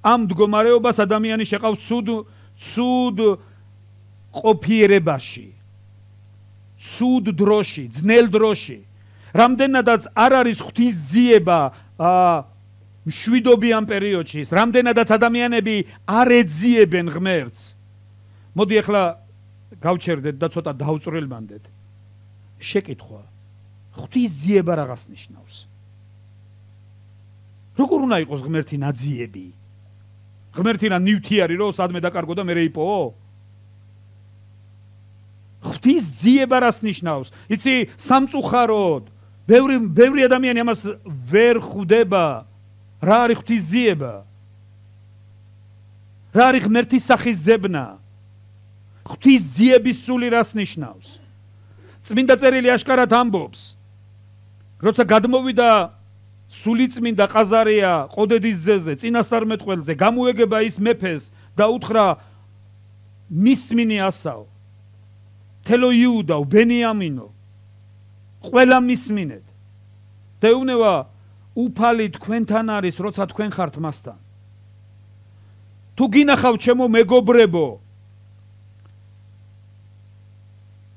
ამ მდგომარეობას ადამიანი შეყავს ცუდ ყოფიერებაში, ცუდ დროში, ძნელ დროში. რამდენადაც არ არის ღვთისძიება მშვიდობიან პერიოდში, რამდენადაც ადამიანები არ ეძიებენ ღმერთს. მოდი ახლა გავჩერდეთ და ცოტა დავწვრილმანდეთ. შეკითხვა, ღვთისძიება რაღაც ნიშნავს? როგორ უნდა იყოს ღმერთი ნაძიები? ღმერთი რა ნივთიარი რო სადმე დაკარგო და მე რეიპო? ღვთისძიება რას ნიშნავს? იცი, სამწუხაროდ ბევრი ადამიანი ამას ვერ ხვდება. რა არის ღვთისძიება? რა არის ღმერთის სახის ზებნა? ღვთისძიების სული რას ნიშნავს? წმინდა წერილი აშკარად ამბობს, როცა გადმოვიდა სულიწმინდა ყაზარია ყოდედის ძეზე, წინასწარმეტყველზე, გამოეგება ის მეფეს და უთხრა მისმინი ასაო, თელო იუდაო, ბენიამინო, ყველა მისმინეთ. და ეუბნება, უფალი თქვენთან არის, როცა თქვენ ხართ მასთან. თუ გინახავთ ჩემო მეგობრებო,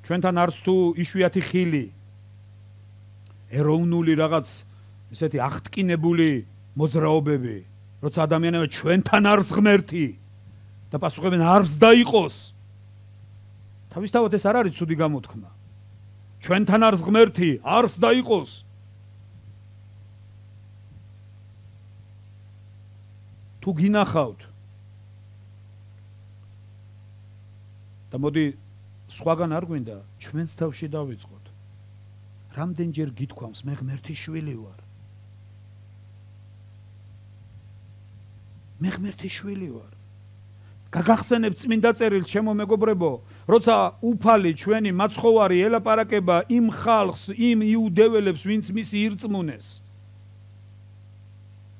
ჩვენთან არც თუ იშვიათი ხილი, ეროვნული რაღაც ესეთი აღტკინებული მოძრაობები, როცა ადამიანები ჩვენთან არის ღმერთი და პასუხობენ არც დაიყოს. თავისთავად ეს არ არის ცუდი გამოთქმა. ჩვენთან არის ღმერთი, არც დაიყოს. თუ გინახავთ და მოდი სხვაგან არ გვინდა, ჩვენს თავში დავიწყოთ. რამდენჯერ გითქვამს, მე ღმერთის შვილი ვარ. მე ღმერთის შვილი ვარ. გაგახსენებთ წმინდა წერილს, ჩემო მეგობრებო, როცა უფალი ჩვენი მაცხოვარი ელაპარაკება იმ ხალხს, იმ იუდეველებს, ვინც მისი ირწმუნეს.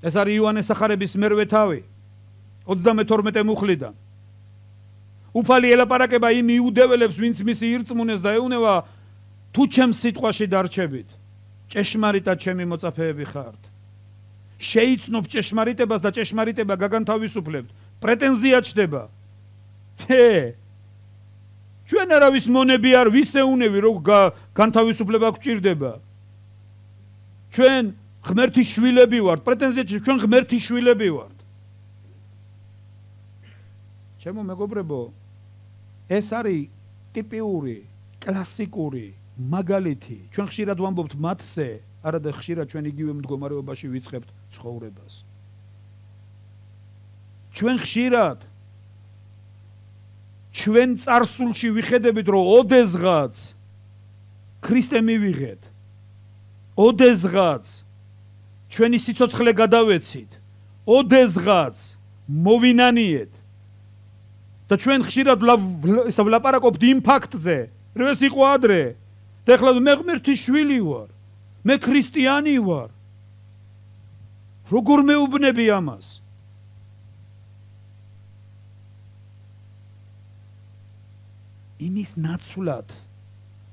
ეს არის იოანეს სახარების მერვე თავი, 32 მუხლიდან. უფალი ელაპარაკება იმ იუდეველებს, ვინც მისი ირწმუნეს და ეუბნება, თუ ჩემს სიტყვაში დარჩებით, ჭეშმარიტად ჩემი მოწაფეები ხართ. შეიცნობთ ჭეშმარიტებას და ჭეშმარიტება გაგანთავისუფლებთ. პრეტენზია ჩდება. ჩვენ არავის მონები არ ვისეუნები, რომ განთავისუფლება გვჭირდება. ჩვენ ღმერთის შვილები ვართ. პრეტენზია ჩვენ ღმერთის შვილები ვართ. ჩემო მეგობრებო, ეს არის ტიპიური, კლასიკური მაგალითი. ჩვენ ხშირად ვამბობთ მათზე, არადა ხშირად ჩვენ იგივე მდგომარეობაში ვიწყებთ ცხოვრებას. ჩვენ ხშირად ჩვენ წარსულში ვიხედებით, რომ ოდესღაც ქრისტე მივიღეთ. ოდესღაც ჩვენი სიცოცხლე გადავეცით. ოდესღაც მოვინანიეთ. და ჩვენ ხშირად ვლაპარაკობთ იმ ფაქტზე, რომ ეს იყო ადრე. და ეხლა მე ღმერთის შვილი ვარ. მე ქრისტიანი ვარ. როგორ მეუბნები ამას? იმის ნაცვლად,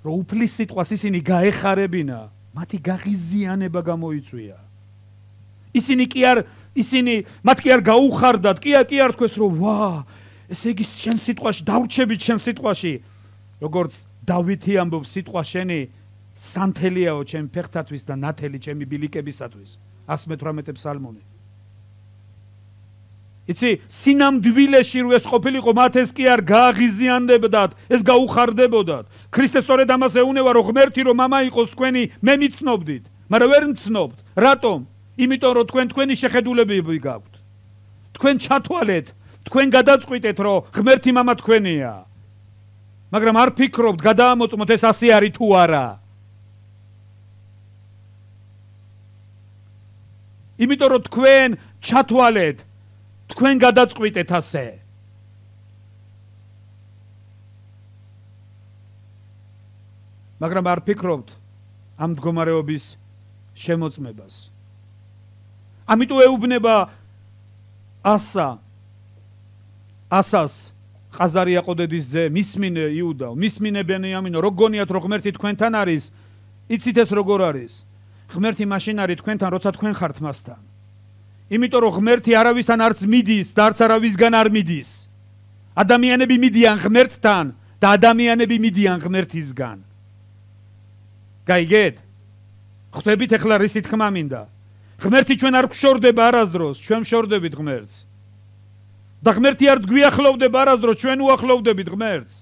რომ უფლის სიტყვას ისინი გაეხარებინა, მათი გაღიზიანება გამოიწვია. მათ კი არ გაუხარდათ, კი არ თქვეს, რომ ვა, ესე იგი შენ სიტყვაში დავრჩებით შენ სიტყვაში, როგორც დავითი ამბობს სიტყვა შენი სანთელიაო ჩემი ფეხთათვის და ნათელი ჩემი ბილიკებისათვის. 118 ფსალმონი. იცი სინამდვილეში რო ეს ყოფილიყო მათ ეს კი არ გააღიზიანდებდათ, ეს გაუხარდებოდათ. ქრისტე სწორედ ამას ეუნება რომ ღმერთი რომ მამა იყოს თქვენი, მე მიცნობდით, მაგრამ ვერ მცნობთ. რატომ? იმიტომ რომ თქვენი შეხედულებები გაქვთ. თქვენ ჩათვალეთ, თქვენ გადაწყვიტეთ რომ ღმერთი მამა თქვენია. მაგრამ არ ფიქრობთ გადაამოწმოთ ეს ასე არის თუ არა. იმიტომ რომ თქვენ ჩათვალეთ, თქვენ გადაწყვიტეთ ასე. მაგრამ არ ფიქრობთ ამ მდგომარეობის შემოწმებას. ამიტომ ეუბნება ასას ყაზარი აყოდედის ძე, მისმინე იუდაო, მისმინე ბენიამინო, რო გონიათ რომ ღმერთი თქვენთან არის, იცით ეს როგორ არის? ღმერთი მაშინ არის თქვენთან, როცა თქვენ ხართ მასთან. იმიტომ რომ ღმერთი არავისთან არც მიდის და არც არავისგან არ მიდის. ადამიანები მიდიან ღმერთთან და ადამიანები მიდიან ღმერთისგან. გაიგეთ? ხვდებით ახლა რისი თქმა მინდა? ღმერთი ჩვენ არ გვშორდება არასდროს, ჩვენ ვშორდებით ღმერთს. და ღმერთი არც გვიახლოვდება არასდროს, ჩვენ უახლოვდებით ღმერთს.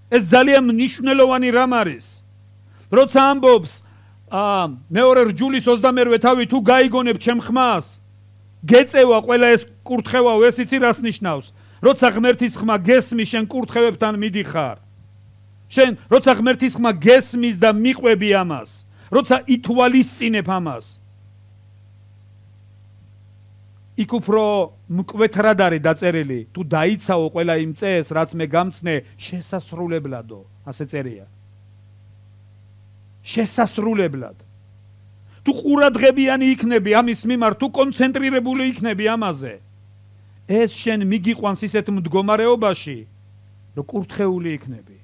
ეს ძალიან მნიშვნელოვანი რამ არის. როცა ამბობს მეორე რჯულის 28 თავი თუ გაიგონებ ჩემ ხმას, გეწევა ყველა ეს კურთხევაო, ეს იცი რას ნიშნავს? როცა ღმერთის ხმა გესმის, შენ კურთხევებთან მიდიხარ. შენ როცა ღმერთის ხმა გესმის და მიყვები ამას, როცა ითვალისწინებ ამას, იქ უფრო მკვეთრად არის დაწერილი, თუ დაიცაო ყველა იმ წეს, რაც მე გამცნე, შესასრულებლადო, ასე წერია. შესასრულებლად. თუ ყურადღებიანი იქნები ამის მიმართ, თუ კონცენტრირებული იქნები ამაზე, ეს შენ მიგიყვანს ისეთ მდგომარეობაში, რომ კურთხეული იქნები.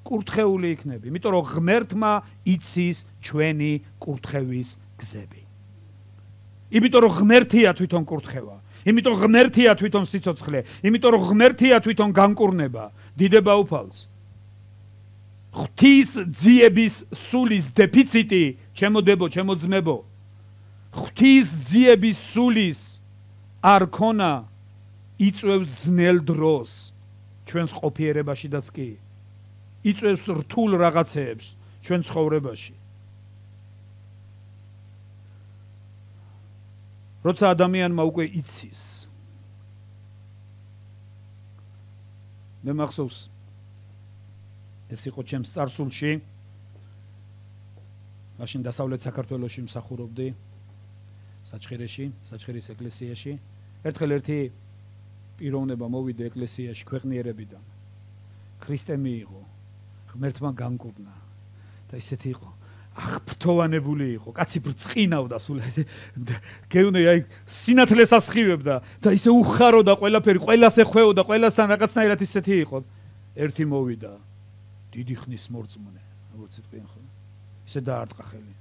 კურთხეული იქნები, იმიტომ რომ ღმერთმა იცის ჩვენი კურთხევის გზები. იმიტომ რომ ღმერთია თვითონ კურთხევა, იმიტომ ღმერთია თვითონ სიცოცხლე, იმიტომ რომ ღმერთია თვითონ განკურნება, დიდება უფალს. ღვთის ძიების სულის დეფიციტი, ჩემო დებო, ჩემო ძმებო, ღვთის ძიების სულის არ ქონა იწვევს ძნელ დროს ჩვენს ყოფიერებაშიდაც კი, იწვევს რთულ რაღაცეებს ჩვენ ცხოვრებაში. როცა ადამიანმა უკვე იცის, მე მახსოვს ეს იყო ჩემს წარსულში, მაშინ დასავლეთ საქართველოში მსახურობდი, საჩხერის ეკლესიაში. ერთხელ ერთი პიროვნება მოვიდა ეკლესიაში ქვეყნიერებიდან. ქრისტე მიიღო, ღმერთმა განკურნა და ისეთი იყო, აღფრთოვანებული იყო, კაცი ბრწყინავდა სულ, გეუნე აი სინათლეს ასხივებდა და ისე უხაროდა ყველაფერი, ყველას ეხვეოდა, ყველასთან რაღაცნაირად ისეთი იყო. ერთი მოვიდა, დიდი ხნის მორწმუნე, როგორც იტყვიან ხო? ისე დაარტყა ხელი.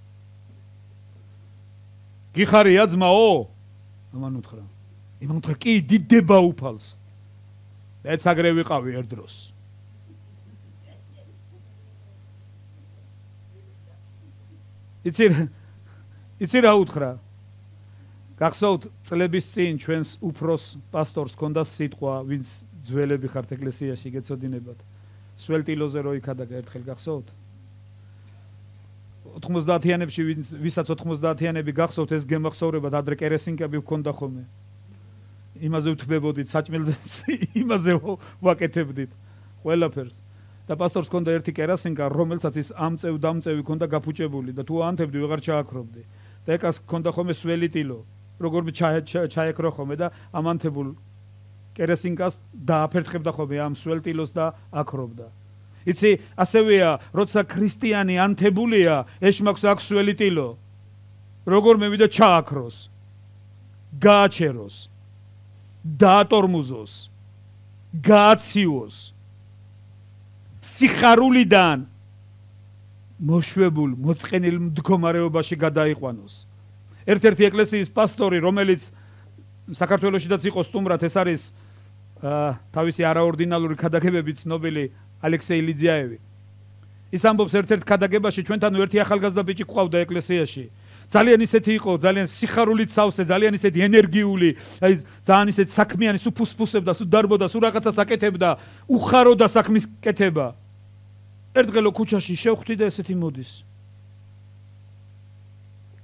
გიხარია ძმაო? ამან უთხრა. იმან უთხრა, კი, დიდება უფალს. მეც აგრე ვიყავი ერთ დროს. იცი რა უთხრა? გახსოვთ წლების წინ ჩვენს უფროს პასტორს ჰქონდა სიტყვა, ვინც ძველები ხართ ეკლესიაში გეცოდინებათ. სველტილოზე რო იქადა ერთხელ გახსოვთ? 90-იანებში ვისაც 90-იანები გახსოვთ, ეს გემახსოვრებათ, ადრე კერესინკები ჰქონდა ხოლმე. იმაზე ვთბებოდით, საჭმელზე იმაზე ვაკეთებდით ყველაფერს. და პასტორს ჰქონდა ერთი კერასინკა, რომელსაც ის ამწევ-დამწევი ჰქონდა გაფუჭებული და თუ აანთებდი ვეღარ ჩააქრობდი. და ეკას ჰქონდა ხოლმე სველი ტილო, როგორმე ჩაეკრო ხოლმე და ამანთებულ კერასინკას დააფერთხებდა ხოლმე ამ სველ ტილოს და აკრობდა. იცი, ასევეა, როცა ქრისტიანი ანთებულია, ეშმაკს აქვს სველი ტილო. როგორმე ვიდა ჩააქროს, გააჩეროს, დაატორმუზოს, გააციოს. სიხარულიდან მოშვებულ, მოწყენილ მდგომარეობაში გადაიყვანოს. ერთ-ერთი ეკლესიის პასტორი, რომელიც საქართველოშიდაც იყო სტუმრად, ეს არის თავისი არაორდინალური ქადაგებებით ცნობილი ალექსეი ლიძიაევი. ის ამბობს ერთ-ერთ ქადაგებაში ჩვენთან ერთი ახალგაზრდა ბიჭი ყავდა ეკლესიაში. ძალიან ისეთი იყო, ძალიან სიხარულით სავსე, ძალიან ისეთი ენერგიული, აი ძალიან ისეთი საქმიანი, სულ ფუსფუსებდა, სულ დარბოდა, სულ რაღაცას აკეთებდა, უხაროდა საქმის კეთება. ერთდღელო ქუჩაში შევხვდი და ესეთი მოდის.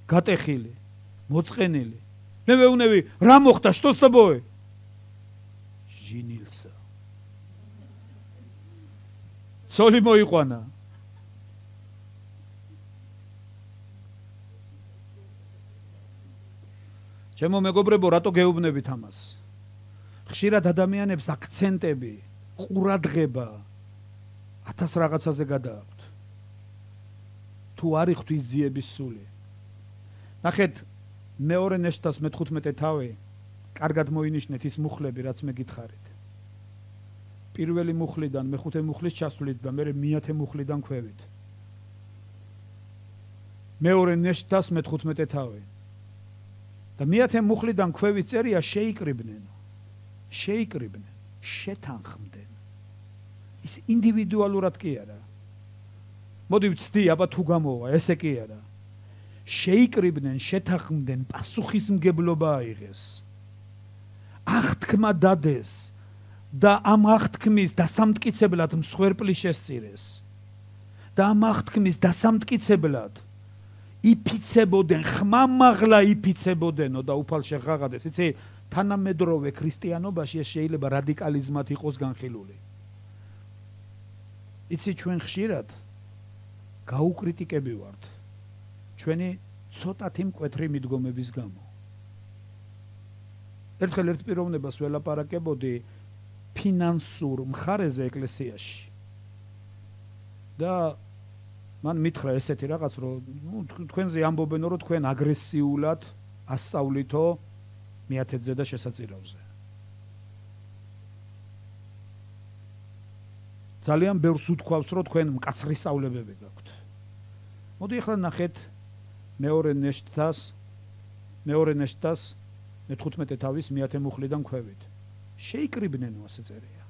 გატეხილი, მოწყენილი. მე ვეუნები, რა მოხდა, что с тобой? Женился. სოლი მოიყვანა. ჩემო მეგობრებო, რატო გეუბნებით ამას? ხშირად ადამიანებს აქცენტები, ყურადღება 1000 რაღაცაზე გადააქვთ. თუ არ იხთვის ძიების სული. ნახეთ, მეორე ნეშტას მე-15 თავი, კარგად მოინიშნეთ ის მუხლები, რაც მე გითხარით. პირველი მუხლიდან მე-5 მუხლის ჩასვლით და მე მე-10 მუხლიდან ქვევით. მეორე ნეშტას მე-15 თავი. და მე-10 მუხლიდან ქვევით წერია შეიკრიბნენ, შეთანხმდნენ. ის ინდივიდუალურად კი არა. მოდი ვცდი, აბა თუ გამოვა, ესე კი არა. შეიკრიბნენ, შეთანხმდნენ, პასუხისმგებლობა აიღეს. აღთქმა დადეს და ამ აღთქმის დასამტკიცებლად მსხვერპლი შესწირეს. და ამ აღთქმის დასამტკიცებლად იფიცებოდნენ, ხმამაღლა იფიცებოდენო და უფალ შეღაღადეს. იცი, თანამედროვე ქრისტიანობაში ეს შეიძლება რადიკალიზმად იყოს განხილული. იცი, ჩვენ ხშირად გაუკრიტიკები ვართ ჩვენი ცოტათი მკვეთრი მიდგომების გამო. ერთხელ ერთ პიროვნებას ველაპარაკებოდი ფინანსურ მხარეზე ეკლესიაში. და მან მითხრა ესეთი რაღაც, რომ თქვენზე ამბობენო, რომ თქვენ აგრესიულად ასწავლითო მეათედზე და შესაწირავზე. ძალიან ბევრს უთქვავს, რომ თქვენ მკაცრი სწავლებები გაქვთ. მოდი ახლა ნახეთ მეორე ნეშტას მე-15 თავის მე-10 მუხლიდან ქვევით. შეიკრიბნენო, ასე წერია.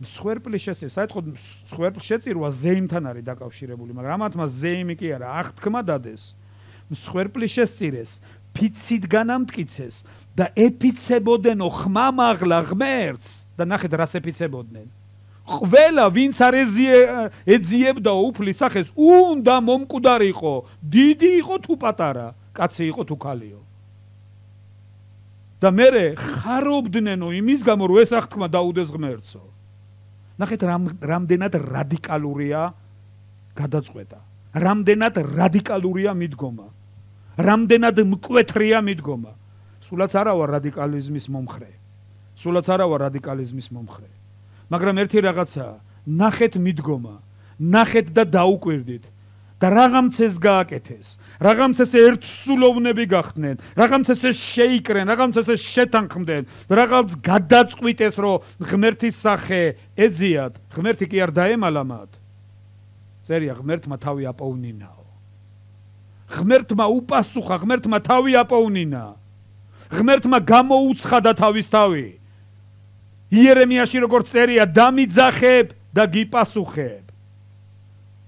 მსხვერპლი შესწირვა, საერთოდ მსხვერპლ შეწირვა ზეიმთან არის დაკავშირებული, მაგრამ ამათმა ზეიმი კი არა, აღთქმა დადეს. მსხვერპლი შესწირეს, ფიცით განამტკიცეს და ეფიცებოდენო ხმამაღლა ღმერთს და ნახეთ რას ეფიცებოდნენ. ყველა ვინც არ ეძიებდა უფლის სახეს, უნდა მომკვდარიყო, დიდი იყო თუ პატარა, კაცი იყო თუ ქალიო. და მერე ხარობდნენო იმის გამო, რომ ეს აღთქმა დაუდეს ღმერთსო. ნახეთ რამდენად რადიკალურია გადაწყვეტა, რამდენად რადიკალურია მიდგომა, რამდენად მკვეთრია მიდგომა. სულაც არა ვარ რადიკალიზმის მომხრე. მაგრამ ერთი რაღაცაა, ნახეთ მიდგომა, ნახეთ და დაუკვირდით და რაღაცას გააკეთეს, რაღაცას ერთსულოვნები გახდნენ, რაღაცას შეიკრენ, რაღაცას შეთანხმდნენ, რაღაც გადაწყვიტეს, რომ ღმერთის სახე ეძიათ, ღმერთი კი არ დაემალა მათ. წერია, ღმერთმა თავი აპოვნინაო. ღმერთმა უპასუხა, ღმერთმა თავი აპოვნინა. ღმერთმა გამოუცხადა თავის თავი. იერემიაში როგორც წერია, დამიძახებ და გიპასუხებ.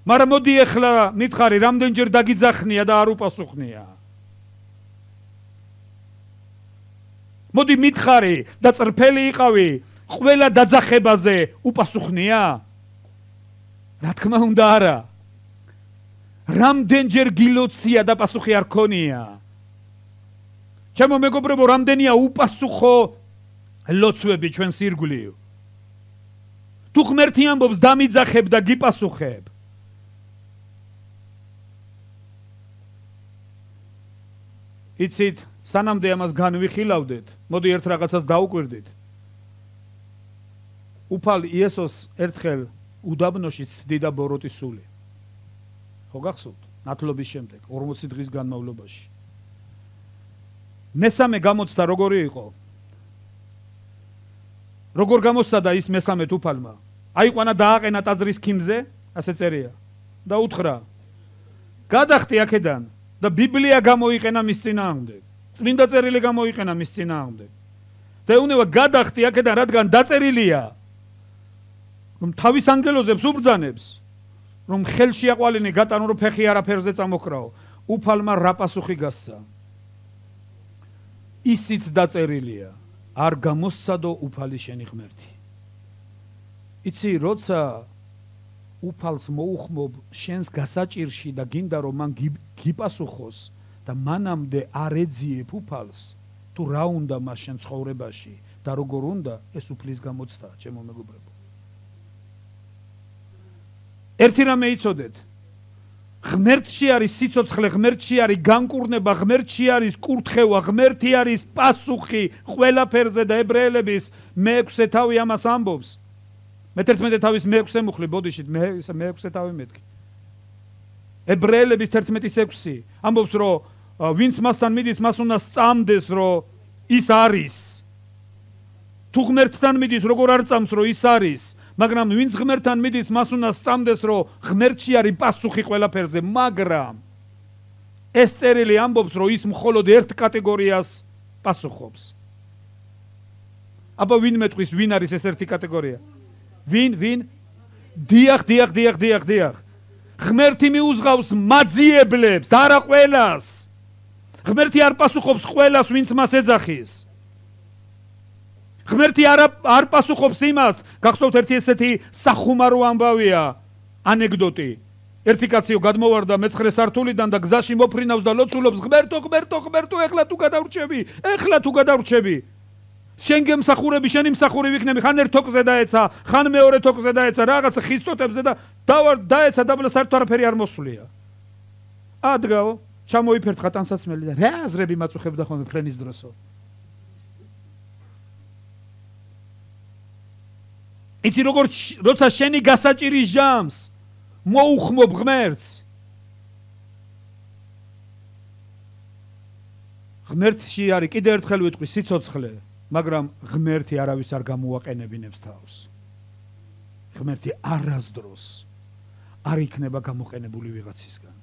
მაგრამ მოდი ახლა მითხარი, რამდენჯერ დაგიძახნია და არ უპასუხნია. მოდი მითხარი და წრფელი იყავი, ყველა დაძახებაზე უპასუხნია? რა თქმა უნდა არა. რამდენჯერ გილოცია და პასუხი არ ქონია? ჩემო მეგობრებო, რამდენია უპასუხო ლოცვები ჩვენს ირგვლივ. თუ ღმერთი ამბობს დამიძახებ და გიპასუხებ. იცით, სანამდე ამას განვიხილავდეთ, მოდი ერთ რაღაცას დაუკვირდით. უფალ იესოს ერთხელ უდაბნოში ცდიდა ბოროტის სული. ხო გახსოვთ? ნათლობის შემდეგ 40 დღის განმავლობაში. მესამე გამოცდა როგორი იყო? როგორ გამოსცადა ის მესამე უფალმა? აიყვანა დააყენა ტაძრის ქიმზე, ასე წერია. და უთხრა: გადახტი აქედან და ბიბლია გამოიყენა მის წინააღმდეგ. წმინდა წერილი გამოიყენა მის წინააღმდეგ. და ეუნება გადახტი აქედან, რადგან დაწერილია, რომ თავის ანგელოზებს უბრძანებს, რომ ხელში აყვალინი გატანო, რომ ფეხი არაფერზე წამოქრაო. უფალმა რა პასუხი გასცა? ისიც დაწერილია, არ გამოსცადო უფალი შენი ღმერთი. იცი, როცა უფალს მოუხმობ შენს გასაჭირში და გინდა რომ მან გიპასუხოს და მანამდე არ ეძიებ უფალს, თუ რა უნდა მას შენ ცხოვრებაში და როგორ უნდა, ეს უფლის გამოცდა, ჩემო მეგობრებო. ერთი რამე იცოდეთ, ღმერთში არის სიცოცხლე, ღმერთში არის განკურნება, ღმერთში არის კურთხევა, ღმერთი არის პასუხი ყველაფერზე და ებრაელების მე-6 თავი ამას ამბობს. მე-11 თავის მე-6 მუხლი, ბოდიშით, მე-6 თავი მეთქი. ებრაელების 11:6 ამბობს, რომ ვინც მასთან მიდის, მას უნდა სწამდეს, რომ ის არის. თუ ღმერთთან მიდის, როგორ არ წამს, რომ ის არის. მაგრამ ვინც ღმერთთან მიდის, მას უნდა სწამდეს, რომ ღმერთში არის პასუხი ყველაფერზე, მაგრამ ეს წერილი ამბობს, რომ ის მხოლოდ ერთ კატეგორიას პასუხობს. აბა ვინ მეტყვის, ვინ არის ეს ერთი კატეგორია? ვინ? დიახ. ღმერთი მიუძღავს მაძიებლებს და არა ყველას. ღმერთი არ პასუხობს ყველას, ვინც მას ეძახის. ღმერთი არ პასუხობს იმას, გახსოვთ ერთი ესეთი სახუმარო ამბავია, ანეკდოტი. ერთი კაციო გადმოვარდა მე-9 სართულიდან და გზაში მოფრინავს და ლოცულობს, ღმერთო, ეხლა თუ გადავრჩები. შენ გემსახურები, შენი მსახური ვიქნები, ხან ერთ თოკზე დაეცა, ხან მეორე თოკზე დაეცა, რაღაცა ხისტოტებზე და დაეცა დაბლა საერთოდ არაფერი არ მოსვლია. ადგაო, ჩამოიფერთხა ტანსაცმელი და რა აზრები მაწუხებდა ხოლმე ფრენის დროსო. იცი როცა შენი გასაჭირის ჟამს მოუხმობ ღმერთს, ღმერთში არის კიდე ერთხელ ვიტყვი სიცოცხლე, მაგრამ ღმერთი არავის არ გამოაყენებინებს თავს. ღმერთი არასდროს არ იქნება გამოყენებული ვიღაცისგან.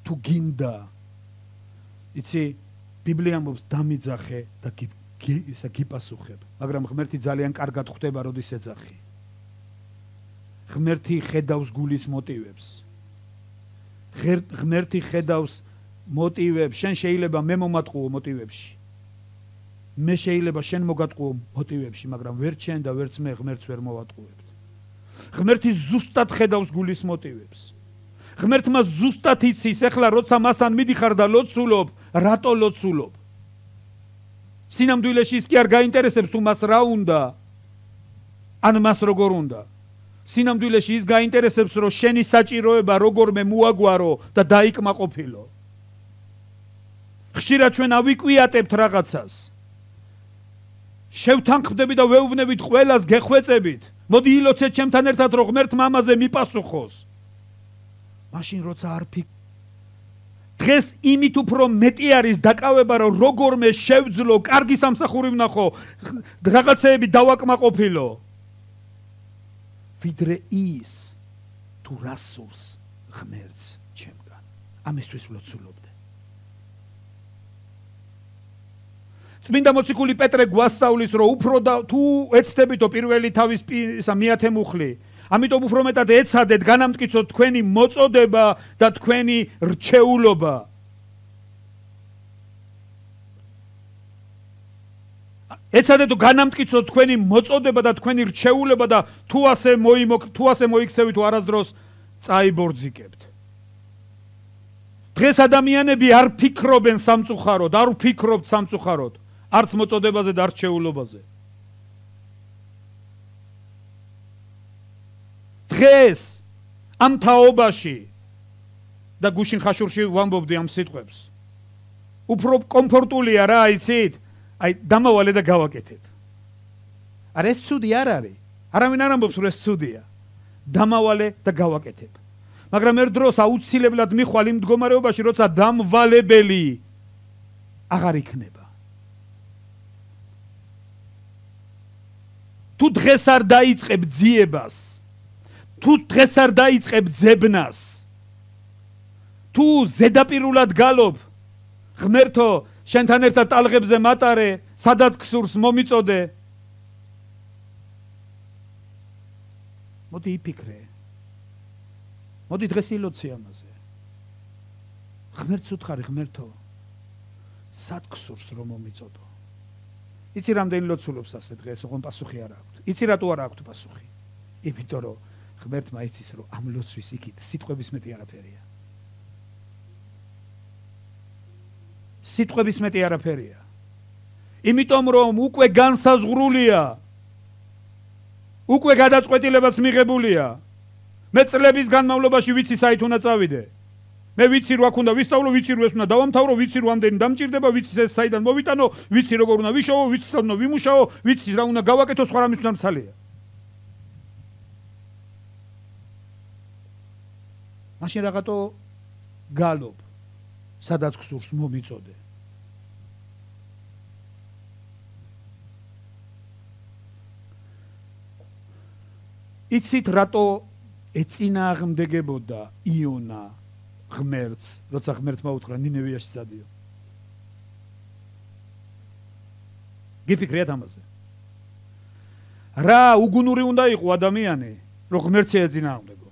თუ გინდა, იცი, ბიბლია ამბობს დამიძახე და გიპასუხებ, მაგრამ ღმერთი ძალიან კარგად ხვდება, როდის ეძახი. ღმერთი ხედავს გულის მოტივებს. ღმერთი ხედავს მოტივებს, შენ შეიძლება მე მომატყუო მოტივებში. მე შეიძლება შენ მოგატყუო მოტივებში, მაგრამ ვერ შენ და ვერც მე ღმერთს ვერ მოვატყუებთ. ღმერთი ზუსტად ხედავს გულის მოტივებს. ღმერთმა ზუსტად იცის, ეხლა როცა მასთან მიდიხარ და ლოცულობ, რატო ლოცულობ? სინამდვილეში ის კი არ გაინტერესებს თუ მას რა უნდა, ან მას როგორ უნდა. სინამდვილეში ის გაინტერესებს, რომ შენი საჭიროება როგორმე მოაგვარო და დაიკმაყოფილო. ხშირად ჩვენ ავიკვიატებთ რაღაცას. შევთანხმდები და ვეუბნებით ყველას გეხვეწებით. მოდი ილოცეთ ჩემთან ერთად, რომ ღმერთმა ამაზე მიპასუხოს. მაშინ როცა არ დღეს იმით უფრო მეტი არის დაკავება, რომ როგორმე შევძლო, კარგი სამსახური ვნახო, რაღაცეები დავაკმაყოფილო. ვიდრე ის თუ რა სურს ღმერთს ჩემგან. ამისთვის ვლოცულობდე. წმინდა მოციქული პეტრე გვასწავლის, რომ უფრო თუ ეცდებითო პირველი თავის მეათე მუხლი, ამიტომ უფრო მეტად ეცადეთ განამტკიცოთ თქვენი მოწოდება და თქვენი რჩეულობა. ეცადეთ განამტკიცოთ თქვენი მოწოდება და თქვენი რჩეულობა და თუ ასე მოიქცევით, არასდროს წაიბორძიკებთ. დღეს ადამიანები არ ფიქრობენ სამწუხაროდ, არ ვფიქრობთ სამწუხაროდ, არც მოწოდებაზე და არც რჩეულობაზე. დღეს ამ თაობაში და გუშინ ხაშურში ვამბობდი ამ სიტყვებს. უფრო კომფორტულია რა, იცით? აი დამავალე და გავაკეთებ. არა ეს ცუდი არ არის. არავინ არ ამბობს რომ ეს ცუდია. დამავალე და გავაკეთებ. მაგრამ ერთ დროს აუცილებლად მიხვალ იმ მდგომარეობაში, როცა დამვალებელი აღარ იქნება. თუ დღეს არ დაიწყებ ძიებას, თუ დღეს არ დაიწყებ ძებნას, თუ ზედაპირულად გალობ, ღმერთო, შენთან ერთად ტალღებზე მატარე, სადაც გსურს მომიწოდე. მოდი იფიქრე. მოდი დღეს ილოცი ამაზე. ღმერთს უთხარი, ღმერთო, სად გსურს რომ მომიწოდო? იცი რამდენი ლოცულობს ასე დღეს, ოღონ პასუხი არ აქვს. იცი რატო არ აქვს პასუხი? იმიტომ რომ ღმერთმა იცის რომ ამ ლოცვის იქით სიტყვების მეტი არაფერია. სიტყვების მეტი არაფერია. იმიტომ რომ უკვე განსაზღვრულია. უკვე გადაწყვეტილებაც მიღებულია. მე წლების განმავლობაში ვიცი საით უნდა წავიდე. მე ვიცი რომ აქ უნდა ვისწავლო, ვიცი რომ ეს უნდა დავამთავრო, ვიცი რომ ამდენი დამჭირდება, ვიცი ეს საიდან მოვიტანო, ვიცი როგორ უნდა ვიშოვო, ვიცი სად უნდა ვიმუშაო, ვიცი რა უნდა გავაკეთო, სხვა რამის უნდა მცალია. მაშინ რაღაცო გალობ, სადაც გსურს მომიწოდე. იცით რატო ეწინააღმდეგებოდა იონა ღმერთს, როცა ღმერთმა უთხრა ნინევიაში წადიო. გიფიქრეთ ამაზე. რა უგუნური უნდა იყო ადამიანი, რომ ღმერთს ეწინააღმდეგო.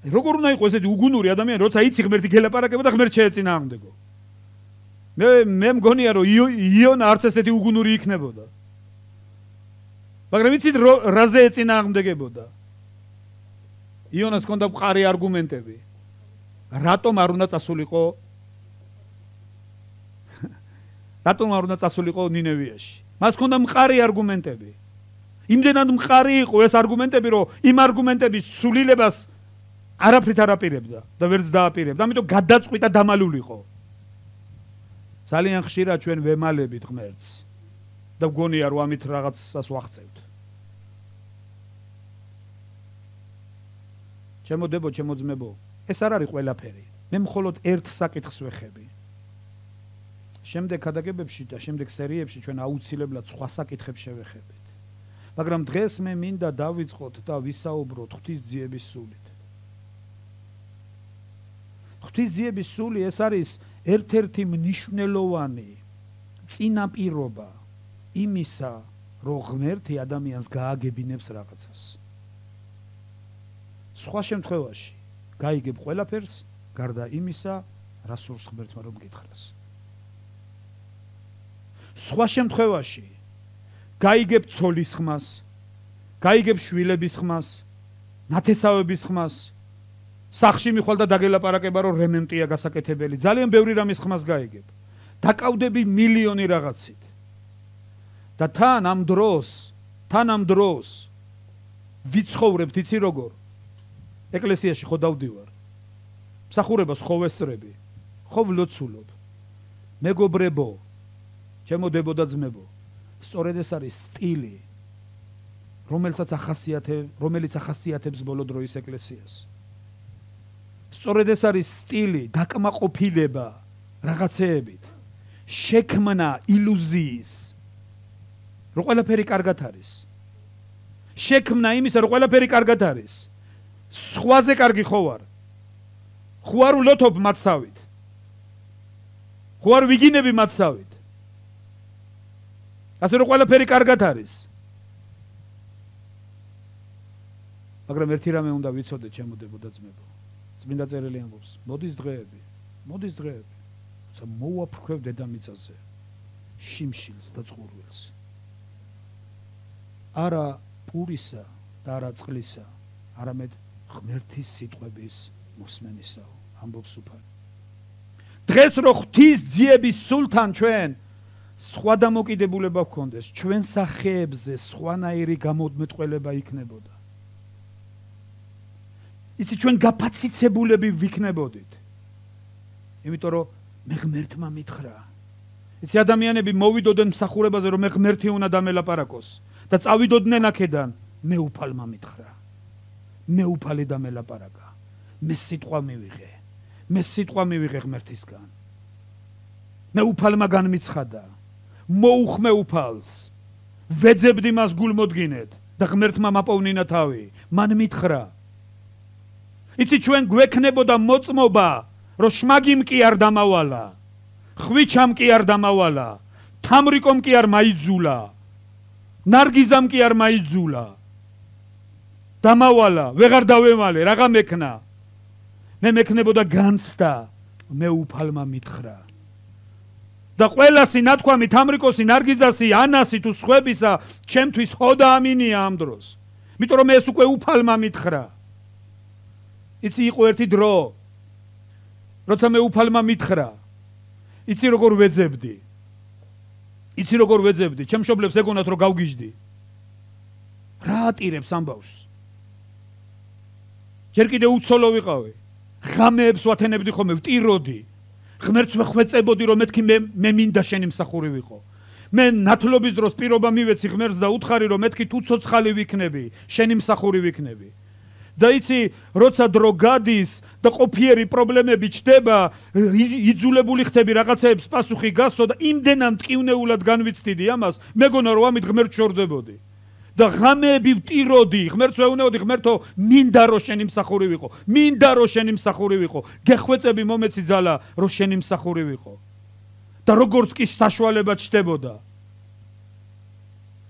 როგორ უნდა იყო ესეთი უგუნური ადამიანი, როცა იცი ღმერთი გელაპარაკება და ღმერთს შეეწინააღმდეგო. მე მგონია რომ იონა არც ესეთი უგუნური იქნებოდა. მაგრამ იცით რაზე ეწინააღმდეგებოდა? იონას ჰქონდა მყარი არგუმენტები. რატომ არ უნდა წასულიყო? რატომ არ უნდა წასულიყო ნინევიაში? მას ჰქონდა მყარი არგუმენტები. იმდენად მყარი იყო ეს არგუმენტები, რომ იმ არგუმენტების სულილებას არაფრით არ აპირებდა და ვერც დააპირებდა. ამიტომ გადაწყვიტა დამალულიყო. ძალიან ხშირად ჩვენ ვემალებით ღმერთს და გგონია რომ ამით რაღაცას ვახცევთ. ჩემო დებო, ჩემო ძმებო, ეს არ არის ყველაფერი. მე მხოლოდ ერთ საკითხს ვეხები. შემდეგ ქადაგებებში და შემდეგ სერიებში ჩვენ აუცილებლად სხვა საკითხებს შევეხებით. მაგრამ დღეს მე მინდა დავიწყოთ და ვისაუბროთ ღვთისძიების სულით. ღვთისძიების სული ეს არის ერთ-ერთი მნიშვნელოვანი წინაპირობა იმისა, რომ ღმერთი ადამიანს გააგებინებს რაღაცას. სხვა შემთხვევაში გაიგებ ყველაფერს, გარდა იმისა, რა სურს ღმერთმა რომ გითხრას. სხვა შემთხვევაში გაიგებ ცოლის ხმას, გაიგებ შვილების ხმას, ნათესავების ხმას, სახში მიხვალ და დაგელაპარაკება რომ რემონტია გასაკეთებელი, ძალიან ბევრი რამის ხმას გაიგებ. დაკავდები მილიონი რაღაცით. და თან ამ დროს ვიცხოვრებთ, იცი როგორ? ეკლესიაში ხო დავდივარ. მსახურებას ხო ვესწრები, ხო ვლოცულობ. მეგობრებო, ჩემო დებო და ძმებო, სწორედ ეს არის სტილი, რომელიც ახასიათებს ბოლო დროის ეკლესიას. სწორედ ეს არის სტილი, დაკმაყოფილება რაღაცეებით, შექმნა ილუზიის, რომ ყველაფერი კარგად არის. შექმნა იმისა, რომ ყველაფერი კარგად არის. სხვაზე კარგი ხო ვარ? ხო არ ვლოთობ მათსავით? ხო არ ვიგინები მათსავით? ასე რომ ყველაფერი კარგად არის. მაგრამ ერთი რამე უნდა ვიცოდეთ, ჩემო დებო და ძმებო. წმინდა წერილი ამბობს, მოდის დღეები, როცა მოვაფრქვევ დედამიწაზე შიმშილს და წყურვილს. არა პურისა და არა წყლისა, არამედ ღმერთის სიტყვების მოსმენისაო, ამბობს უფალი. დღეს რო ღვთისძიების სულთან ჩვენ სხვა დამოკიდებულება გქონდეს, ჩვენ სახეებზე სხვანაირი გამოდმეტყველება იქნებოდა. იცი ჩვენ გაფაციცებულები ვიქნებოდით. იმიტომ რომ მე ღმერთმა მითხრა. იცი ადამიანები მოვიდოდნენ მსახურებაზე რომ მე ღმერთი უნდა დამელაპარაკოს და წავიდოდნენ აქედან, მე უფალმა მითხრა. მე უფალი დამელაპარაკა. მე სიტყვა მივიღე ღმერთისგან. მე უფალმა განმიცხადა. მოუხმე უფალს. ვეძებდი მას გულმოდგინედ და ღმერთმა მაპოვნინა თავი. მან მითხრა. იცი ჩვენ გვექნებოდა მოწმობა, რომ შმაგიმ კი არ დამავალა, ხვიჩამ კი არ დამავალა, თამრიკომ კი არ მაიძულა, ნარგიზამ კი არ მაიძულა. დამავალა, ვეღარ დავემალე, რაღა მექნა. მე მექნებოდა განცდა, მე უფალმა მითხრა. და ყველასი ნათქვამი, თამრიკოსი, ნარგიზასი, ანასი თუ სხვებისა, ჩემთვის ხოდა ამინია ამ დროს. იმიტომ რომ ეს უკვე უფალმა მითხრა. იცი იყო ერთი დრო, როცა მე უფალმა მითხრა, იცი როგორ ვეძებდი. იცი როგორ ვეძებდი, ჩემ მშობლებს ეგონათ რომ გავგიჟდი. რა ატირებს ამბავს? ჯერ კიდე უცოლო ვიყავი. ღამეებს ვათენებდი ხოლმე, ვტიროდი. ღმერთს ვეხვეწებოდი რომ მეთქი მე მინდა შენი მსახური ვიყო. მე ნათლობის დროს პირობა მივეცი ღმერთს და უთხარი რომ მეთქი თუ ცოცხალი ვიქნები, შენი მსახური ვიქნები. და იცი, როცა დრო გადის და ყოფიერი პრობლემები ჩდება, იძულებული ხდები რაღაცეებს პასუხი გასცო და იმდენად მტკივნეულად განვიცდიდი ამას, მეგონა რომ ამით ღმერთს შორდებოდი. და ღამეები ვტიროდი, ღმერთს ვეუბნებოდი, ღმერთო, მინდა რომ შენი მსახური ვიყო, მინდა რომ შენი მსახური ვიყო, გეხვეწები მომეცი ძალა რომ შენი მსახური ვიყო. და როგორც კი საშუალება ჩდებოდა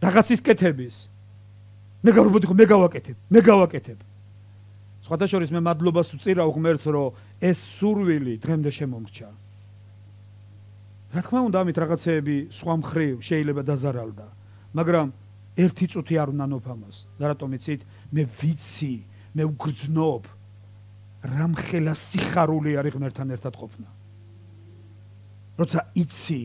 რაღაცის კეთების, მე გავრობოდი ხო, მე გავაკეთებ. სხვათა შორის მე მადლობას ვწირავ ღმერთს, რომ ეს სურვილი დღემდე შემომრჩა. რა თქმა უნდა, ამით რაღაცეები სხვა მხრივ შეიძლება დაზარალდა, მაგრამ ერთი წუთი არ უნდა ნოფამას. და რატომ იცით? მე ვიცი, მე ვგრძნობ, რამხელა სიხარული არის ღმერთთან ერთად ყოფნა. როცა იცი,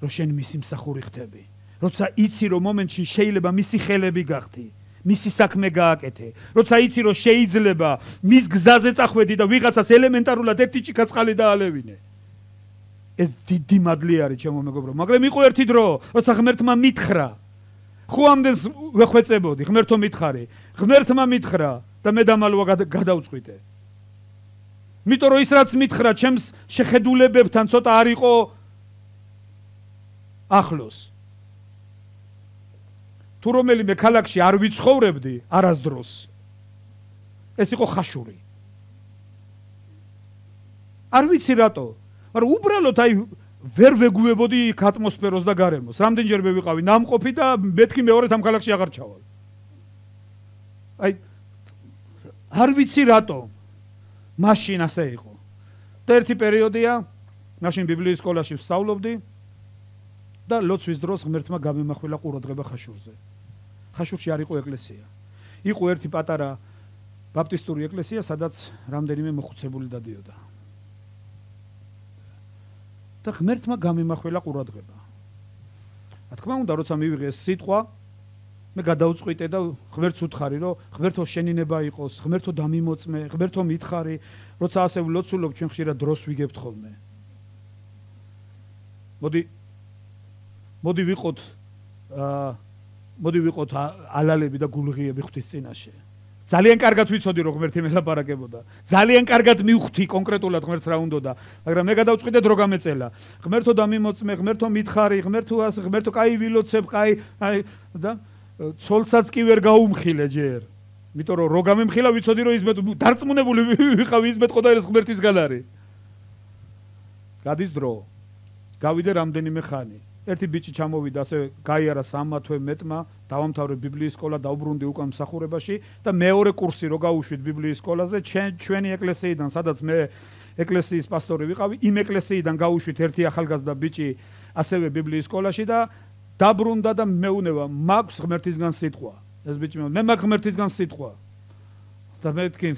რომ შენ მისი მსახური ხდები, როცა იცი, რომ მომენტში შეიძლება მისი ხელები გახდი, მისი საქმე გააკეთე, როცა იცი, რომ შეიძლება მის გზაზე წახვედი და ვიღაცას ელემენტარულად ერთი ჭიქა წყალი დაალევინე. ეს დიდი მადლი არის, ჩემო მეგობრო, მაგრამ იყო ერთი დრო, როცა ღმერთმა მითხრა, ხო ამდენს ვეხვეწებოდი, ღმერთო მითხარი, ღმერთმა მითხრა და მე დამალვა გადავწყვიტე. იმიტომ რომ ის რაც მითხრა, ჩემს შეხედულებებთან ცოტა არ იყო ახლოს. თუ რომელიმე ქალაქში არ ვიცხოვრებდი არასდროს, ეს იყო ხაშური. არ ვიცი რატო, მაგრამ უბრალოდ აი ვერ ვეგუებოდი იქ ატმოსფეროს და გარემოს. რამდენჯერმე ვიყავი ნამყოფი და მეთქი მეორედ ამ ქალაქში აღარ ჩავალ. აი არ ვიცი რატო, მაშინ ასე იყო. და ერთი პერიოდია, მაშინ ბიბლიის სკოლაში ვსწავლობდი და ლოცვის დროს ღმერთმა გამემახვილა ყურადღება ხაშურზე. ხაშურში არ იყო ეკლესია. იყო ერთი პატარა ბაპტისტური ეკლესია, სადაც რამდენიმე მოხუცებული დადიოდა. და ღმერთმა გამემახვილა ყურადღება. რა თქმა უნდა, როცა მივიღე ეს სიტყვა, მე გადავწყვიტე და ღმერთს ვუთხარი, რომ ღმერთო შენინება იყოს, ღმერთო დამიმოწმე, ღმერთო მითხარი, როცა ასე ვლოცულობ, ჩვენ ხშირად დროს ვიგებთ ხოლმე. მოდი ვიყოთ ალალები და გულღიები ღვთის წინაშე. ძალიან კარგად ვიცოდი, რომ ღმერთი მელაპარაკებოდა. ძალიან კარგად მივხვდი კონკრეტულად ღმერთს რა უნდოდა, მაგრამ მე გადავწყვიტე დრო გამეწელა. ღმერთო დამიმოწმე, ღმერთო მითხარი, ღმერთო კაი ვილოცებ, კაი და ცოლსაც კი ვერ გაუმხილე ჯერ. იმიტომ რომ რო გამემხილა ვიცოდი, რომ ისმეთ დარწმუნებული ვიყავი, ისმეთ ყოდაერეს ღმერთისგან არის. გადის დრო. გავიდე რამდენიმე ხანი. ერთი ბიჭი ჩამოვიდა, ასე გაიარა 3 თვე მეტმა, დავამთავრე ბიბლიის სკოლა, დავბრუნდი უკან მსახურებაში და მეორე კურსი რო გავუშვით ბიბლიის სკოლაზე, ჩვენი ეკლესიიდან, სადაც მე ეკლესიის პასტორი ვიყავი, იმ ეკლესიიდან გავუშვით ერთი ახალგაზრდა ბიჭი ასევე ბიბლიის სკოლაში და დაბრუნდა და მეუნება, მაქვს ღმერთისგან სიტყვა. ეს ბიჭი მე მაქვს ღმერთისგან სიტყვა. და მეთქი,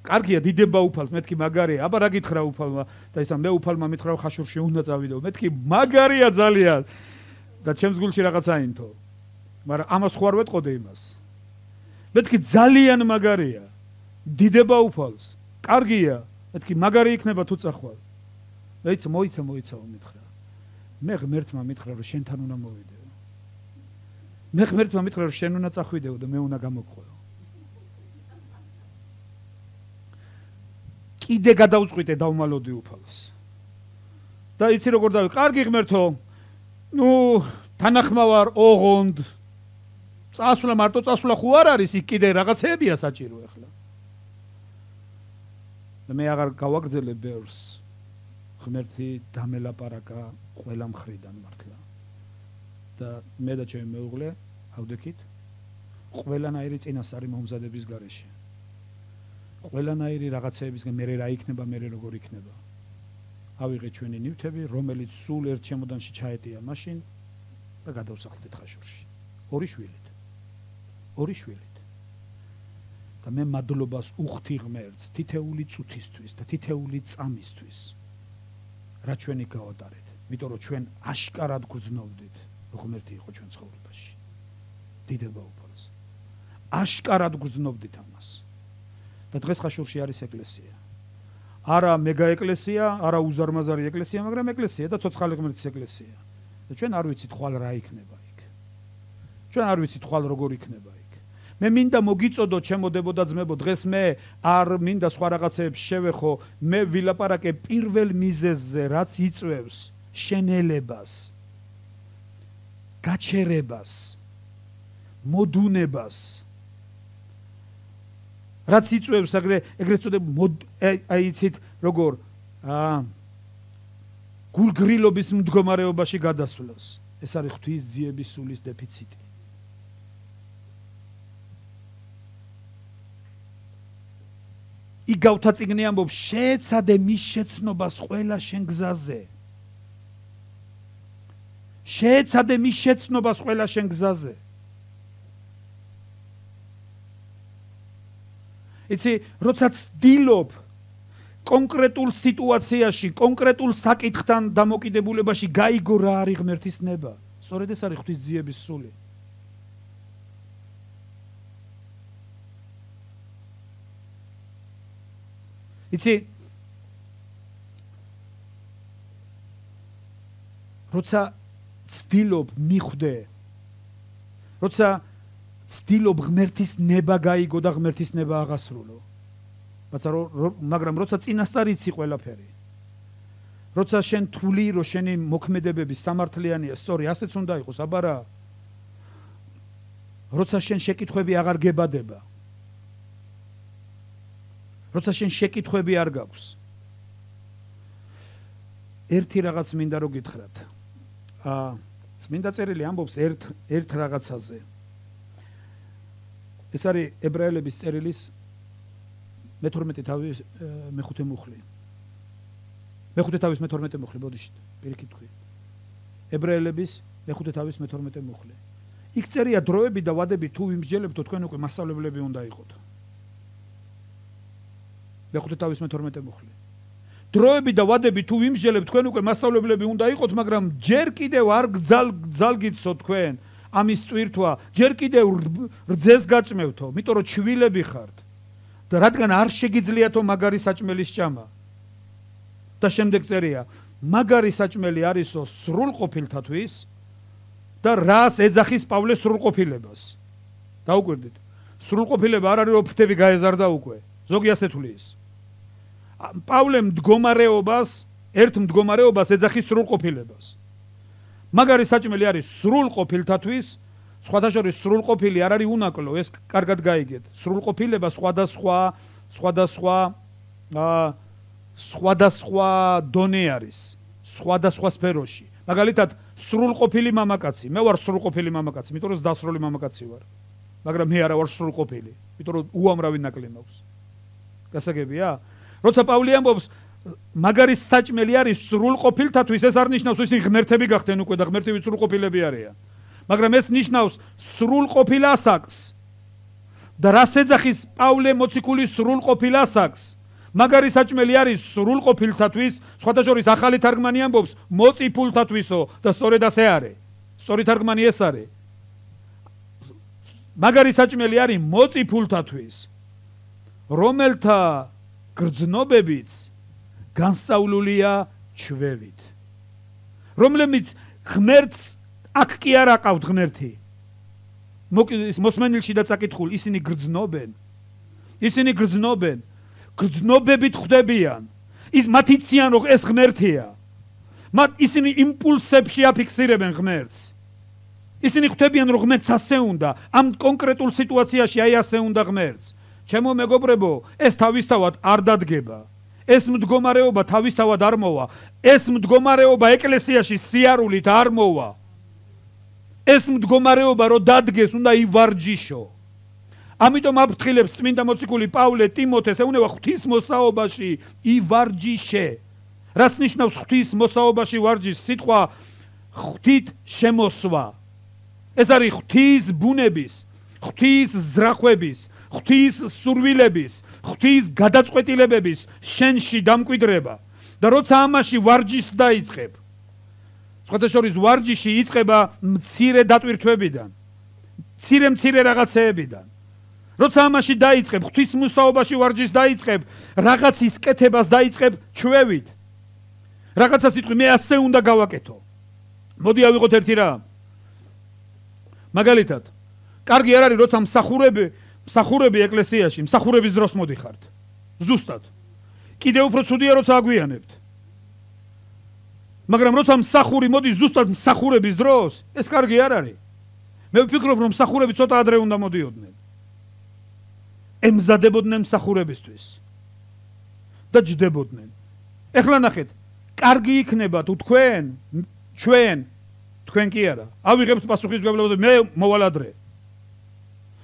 კარგია, დიდება უფალს, მეთქი მაგარია, აბა რა გითხრა უფალმა და ისა მე უფალმა მითხრა ხაშურში უნდა წავიდო. მეთქი მაგარია ძალიან. და ჩემს გულში რაღაცა ინთო. მაგრამ ამას ხო არ ვეტყოდე იმას. მეთქი ძალიან მაგარია. დიდება უფალს. კარგია. მეთქი მაგარი იქნება თუ წახვალ. მოიცა მითხრა. მე ღმერთმა მითხრა რომ შენთან უნდა მოვიდეო. მე ღმერთმა მითხრა რომ შენ უნდა წახვიდეო და მე უნდა გამოგხვეო. კიდე გადავწყვიტე დავმალოდი უფალს. და იცი როგორ დავი, კარგი ღმერთო, თანახმავარ, ოღონდ. მარტო წასვლა ხო არ არის, იქ კიდე რაღაცეებია საჭირო ახლა. და მე აღარ გავაგრძელებ ბევრს. ღმერთი დამელაპარაკა ყველა მხრიდან მართლა. და მე და ჩემი მეუღლე ავდექით ყველანაირი წინასწარი მომზადების გარეშე. ყველანაირი რაღაცეებისგან მე რა იქნება, მე როგორ იქნება. ავიღეთ ჩვენი ნივთები, რომელიც სულ ერთ ჩემოდანში ჩაეტია მაშინ და გადავსახლდით ხაშურში. ორი შვილით. და მე მადლობას უხდი ღმერთს თითეული წუთისთვის და თითეული წამისთვის. რა ჩვენი გავატარეთ, იმიტომ რომ ჩვენ აშკარად გრძნობდით, რომ ღმერთი იყო ჩვენ ცხოვრებაში. დიდება უფალს. აშკარად გრძნობდით ამას. და დღეს ხაშურში არის ეკლესია. არა მეგა ეკლესია, არა უზარმაზარი ეკლესია, მაგრამ ეკლესია და ცოცხალი ღმერთის ეკლესია. და ჩვენ არ ვიცით ხვალ რა იქნება იქ. ჩვენ არ ვიცით ხვალ როგორ იქნება იქ. მე მინდა მოგიწოდო ჩემოდებო და ძმებო, დღეს მე არ მინდა სხვა რაღაცეებს შევეხო, მე ვილაპარაკე პირველ მიზეზზე, რაც იწვევს შენელებას, გაჩერებას, მოდუნებას. რაც იწვევს ეგრეთ წოდებულ იცით როგორ გულგრილობის მდგომარეობაში გადასვლას. ეს არის ღვთის ძიების სულის დეფიციტი. იგავთა წიგნი ამბობს, შეეცადე მის შეცნობას ყველა შენ გზაზე. შეეცადე მის შეცნობას ყველა შენ გზაზე. იცი, როცა ცდილობ კონკრეტულ სიტუაციაში, კონკრეტულ საკითხთან დამოკიდებულებაში გაიგო რა არის ღმერთის ნება. სწორედ ეს არის ღვთის ძიების სული. იცი, როცა ცდილობ მიხვდე, როცა ცდილობ ღმერთის ნება გაიგო და ღმერთის ნება აღასრულო. მაგრამ როცა წინასწარ იცი ყველაფერი, როცა შენ თვლი რომ შენი მოქმედებები სამართლიანია, სწორი, ასეც უნდა იყოს, აბარა. როცა შენ შეკითხვები აღარ გებადება, როცა შენ შეკითხვები არ გაქვს, ერთი რაღაც მინდა რომ გითხრათ. წმინდა წერილი ამბობს ერთ რაღაცაზე. ეს არის ებრაელების წერილის მე-12 თავის მე-5 მუხლი. მე-5 თავის მე-12 მუხლი, ბოდიშით, პირიქით თქვი. ებრაელების მე-5 თავის მე-12 მუხლი. იქ წერია დროები და ვადები თუ ვიმსჯელებთო, თქვენ უკვე მასწავლებლები უნდა იყოთ. მე-5 თავის მე-12 მუხლი. დროები და ვადები თუ ვიმსჯელებთ, თქვენ უკვე მასწავლებლები უნდა იყოთ, მაგრამ ჯერ კიდევ არ გძალგიცო თქვენ ამის ტვირთვა, ჯერ კიდევ რძეს გაჭმევთო, იმიტომ რომ ჩვილები ხართ. და რადგან არ შეგიძლიათო მაგარი საჭმელის ჭამა. და შემდეგ წერია, მაგარი საჭმელი არისო სრულყოფილთათვის და რას ეძახის პავლეს სრულყოფილებას. დაუკვირდით. სრულყოფილება არ არის რომ ფრთები გაეზარდა უკვე. ზოგი ასე თulis. პავლემ ერთ მდგომარეობას ეძახის სრულყოფილებას. მაგარი საჭმელი არის სრულყოფილთათვის, სხვადასხვა სრულყოფილი არ არის უნაკლო, ეს კარგად გაიგეთ. სრულყოფილება სხვადასხვა დონე არის, სხვადასხვა სფეროში. მაგალითად, სრულყოფილი მამაკაცი, მე ვარ სრულყოფილი მამაკაცი, იმიტომ რომ დასრული მამაკაცი ვარ. მაგრამ მე არა ვარ სრულყოფილი, იმიტომ რომ უამრავი ნაკლი მაქვს. გასაგებია? როცა პავლე ამბობს, მაგარი საჭმელი არის სრულყოფილთათვის, ეს არ ნიშნავს ისინი ღმერთები გახდნენ უკვე და ღმერთები სრულყოფილები არიან. მაგრამ ეს ნიშნავს სრულყოფილ ასაკს. და რას ეძახის პავლე მოციქული სრულყოფილ ასაკს? მაგარი საჭმელი არის სრულყოფილთათვის, სხვადასხვა ახალი თარგმანი ამბობს მოწიფულთათვისო და სწორედ ასე არის. სწორი თარგმანი ეს არის. მაგარი საჭმელი არის მოწიფულთათვის, რომელთა გრძნობებიც განსწავლულია ჩვევით. რომლებიც ღმერთს აქ კი არ აყავთ ღმერთი. მოსმენილში და წაკითხულ ისინი გრძნობენ. ისინი გრძნობენ. გრძნობებით ხვდებიან. მათ იციან რომ ეს ღმერთია. ისინი იმპულსებში აფიქსირებენ ღმერთს. ისინი ხვდებიან რომ ღმერთს ასე უნდა, ამ კონკრეტულ სიტუაციაში აი ასე უნდა ღმერთს. ჩემო მეგობრებო, ეს თავისთავად არ დადგება. ეს მდგომარეობა თავისთავად არ მოვა. ეს მდგომარეობა ეკლესიაში სიარულით არ მოვა. ეს მდგომარეობა რო დადგეს, უნდა ივარჯიშო. ამიტომ აფრთხილებს წმინდა მოციქული პავლე ტიმოთეს, ეუნება ღვთის მოსაობაში ივარჯიშე. რას ნიშნავს ღვთის მოსაობაში ვარჯიში? სიტყვა ღვთით შემოსვა. ეს არის ღვთის ბუნების, ღვთის ზრახვების, ღვთის სურვილების, ღვთის გადაწყვეტილებების შენში დამკვიდრება. და როცა ამაში ვარჯიშს დაიწყებ, სხვათა შორის ვარჯიში იწყება მცირე დატვირთვებიდან, მცირე რაღაცეებიდან. როცა ამაში დაიწყებ, ღვთის მოსაობაში ვარჯიშს დაიწყებ, რაღაცის კეთებას დაიწყებ ჩვევით. რაღაცა სიტყვი მე ასე უნდა გავაკეთო. მოდი ავიღოთ ერთი რამ. მაგალითად, კარგი არ არის როცა მსახურები ეკლესიაში, მსახურების დროს მოდიხართ. ზუსტად. კიდევ უფრო ცუდია როცა აგვიანებთ. მაგრამ როცა მსახური მოდის ზუსტად მსახურების დროს, ეს კარგი არ არის. მე ვფიქრობ რომ მსახურები ცოტა ადრე უნდა მოდიოდნენ. ემზადებოდნენ მსახურებისთვის და ჯდებოდნენ. ეხლა ნახეთ, კარგი იქნება თუ თქვენ კი არა. ავიღებთ პასუხისმგებლობა, მე მოვალ ადრე.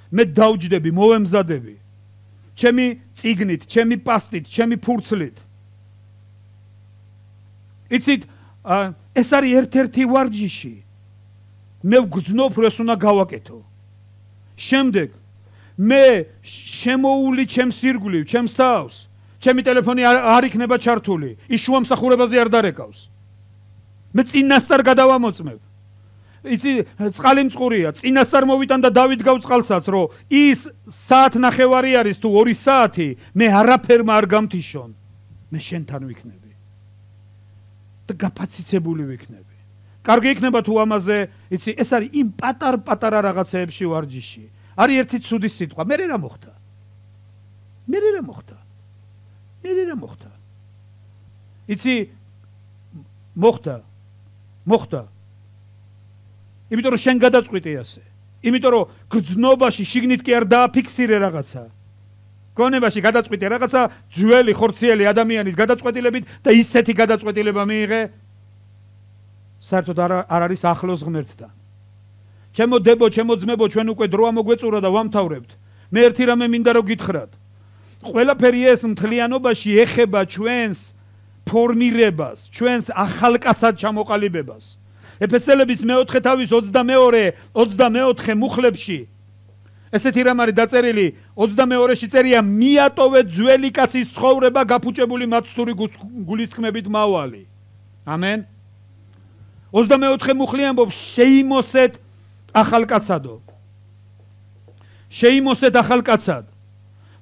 მე დავჯდები, მოვემზადები. ჩემი წიგნით, ჩემი პასტით, ჩემი ფურცლით. იცით, ეს არის ერთ-ერთი ვარჯიში. მე ვგრძნობ, რომ ეს უნდა გავაკეთო. შემდეგ მე შემოული ჩემს ირგვლივ, ჩემს თავს, ჩემი ტელეფონი არ იქნება ჩართული, ის შუა მსახურებაზე არ დარეკავს. მე წინასწარ გადავამოწმებ. იცი, წყალი მწყურია, წინასწარ მოვიტან და დავიდგავ წყალსაც, რომ ის საათნახევარი არის თუ 2 საათი, მე არაფერმა არ გამთიშონ. მე შენთან ვიქნები. და გაფაციცებული ვიქნები. კარგი იქნება თუ ამაზე, იცი, ეს არის იმ პატარ-პატარა რაღაცეებში ვარჯიში. არის ერთი ცუდი სიტყვა. მე რა მოხდა? იცი, მოხდა. იმიტომ რომ შენ გადაწყვიტე ასე. იმიტომ რომ გრძნობაში შიგნით კი არ დააფიქსირე რაღაცა. გონებაში გადაწყვიტე რაღაცა ძველი ხორციელი ადამიანის გადაწყვეტილებით და ისეთი გადაწყვეტილება მიიღე საერთოდ არ არის ახლოს ღმერთთან. ჩემო დებო, ჩემო ძმებო, ჩვენ უკვე დრო ამოგვეწურა და ვამთავრებთ. მე ერთი რამე მინდა რომ გითხრათ. ყველაფერი ეს მთლიანობაში ეხება ჩვენს ფორმირებას, ჩვენს ახალკაცად ჩამოყალიბებას. ეფესელების მე-4 თავის 22-24 მუხლებში ესეთი რამ არის დაწერილი, 22-ში წერია მიატოვე ძველი კაცის ცხოვრება გაფუჭებული მაცთური გულისწყმებით მავალი. ამენ. 24 მუხლი ამბობს შეიმოსეთ ახალკაცადო. შეიმოსეთ ახალკაცად.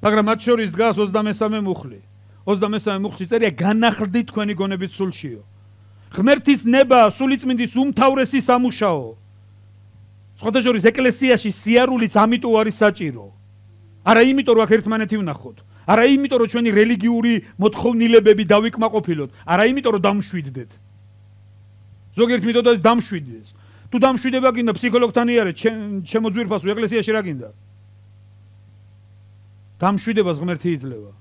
მაგრამ მათ შორის დგას 23 მუხლი. 23 მუხლში წერია განახლდით თქვენი გონებით სულშიო. ღმერთის ნება სულიწმინდის უმთავრესი სამუშაო. სხვათა შორის ეკლესიაში სიარულიც ამიტომ არის საჭირო. არა იმიტომ რომ აქ ერთმანეთი ვნახოთ. არა იმიტომ რომ ჩვენი რელიგიური მოთხოვნილებები დავიკმაყოფილოთ. არა იმიტომ რომ დამშვიდდეთ. ზოგიერთ მითოდა დამშვიდეს. თუ დამშვიდება გინდა ფსიქოლოგთან იარე, ჩემო ძვირფასო ეკლესიაში რა გინდა? დამშვიდებას ღმერთი იძლევა.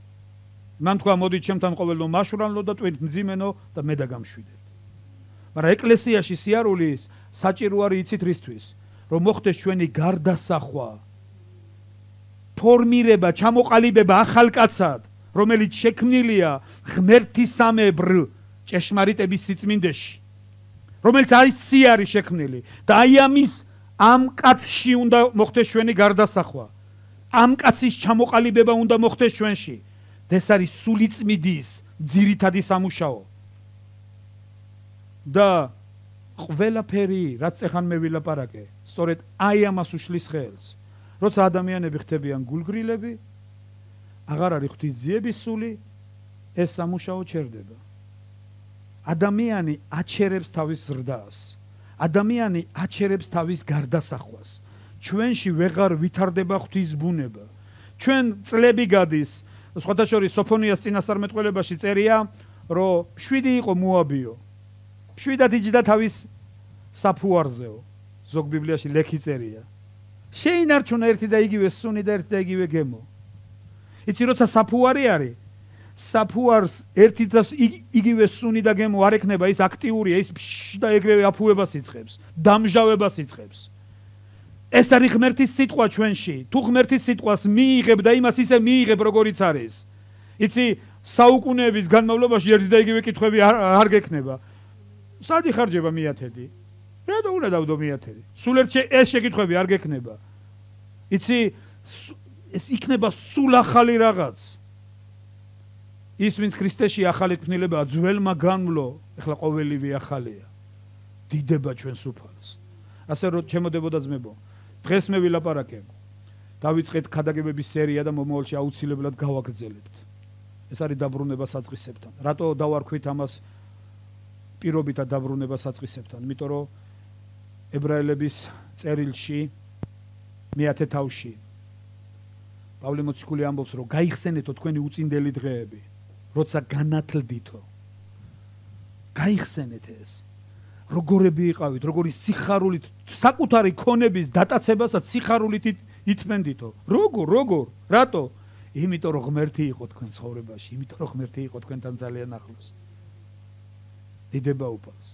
მან თქვა მოდით ჩემთან ყოველდღე მაშვრანლო და ტვინთ მძიმენო და მე და გამშვიდეთ. მაგრამ ეკლესიაში სიარულის საჭირო არის იცით რისთვის? რომ მოხდეს ჩვენი გარდასახვა, ფორმირება, ჩამოყალიბება ახალკაცად, რომელიც შექმნილია ღმერთისამებრ ჭეშმარიტების სიწმინდეში, რომელიც არის სიარი შექმნილი და აი ამ კაცში უნდა მოხდეს ჩვენი გარდასახვა. ამ კაცის ჩამოყალიბება უნდა მოხდეს ჩვენში. ეს არის სულიწმინდის ძირითადი სამუშაო. და ყველაფერი, რაც ეხან მე ვილაპარაკე, სწორედ აი ამას უშლის ხელს. როცა ადამიანები ხდებიან გულგრილები, აღარ არის ღვთის ძიების სული, ეს სამუშაო ჩერდება. ადამიანი აჩერებს თავის ზრდას. ადამიანი აჩერებს თავის გარდასახვას. ჩვენში ვეღარ ვითარდება ღვთის ბუნება. ჩვენ წლები გადის, სხვათა შორის სოფონიას წინასწარმეტყველებაში წერია, რომ 7 იყო მოაბიო. 7 იჯდა თავის საფუარზეო. ზოგ ბიბლიაში ლექი წერია. შეინარჩუნა ერთი და იგივე სუნი და ერთი და იგივე გემო. იცი როცა საფუარი არის, საფუარს ერთი და იგივე სუნი და გემო არ ექნება, ის აქტიურია, ის და ეგრევე აფუებას იწყებს, დამჟავებას იწყებს. ეს არის ღმერთის სიტყვა ჩვენში. თუ ღმერთის სიტყვას მიიღებ და იმას ისე მიიღებ, როგორიც არის. იცი, საუკუნეების განმავლობაში ერთი და იგივე კითხვები არ გექნება. სად იხარჯება მეათედი? რატო უნდა დავდო მეათედი? სულ ეს შეკითხვები არ გექნება. იცი, ეს იქნება სულ ახალი რაღაც. ის ვინც ქრისტეში ახალი ქმნილებაა, ძველმა განვლო, ეხლა ყოველივე ახალია. დიდება ჩვენს უფალს. ასე რომ ჩემოდებოდა ძმებო, დღეს მე ვილაპარაკე. დავიწყეთ ქადაგებების სერია და მომავალში აუცილებლად გავაგრძელებთ. ეს არის დაბრუნება საწყისებთან. რატო დავარქვით ამას პირობითა დაბრუნება საწყისებთან? იმიტომ რომ ებრაელების წერილში მე-10 თავში პავლე მოციქული ამბობს, რომ გაიხსენეთო თქვენი უწინდელი დღეები, როცა განათლდითო. გაიხსენეთ ეს. როგორები იყავით, როგორი სიხარულით, საკუთარი ქონების დატაცებასაც სიხარულით ითმენდითო. როგორ? რატო? იმიტომ რომ ღმერთი იყო თქვენ ცხოვრებაში, იმიტომ რომ ღმერთი იყო თქვენთან ძალიან ახლოს. დიდება უფალს.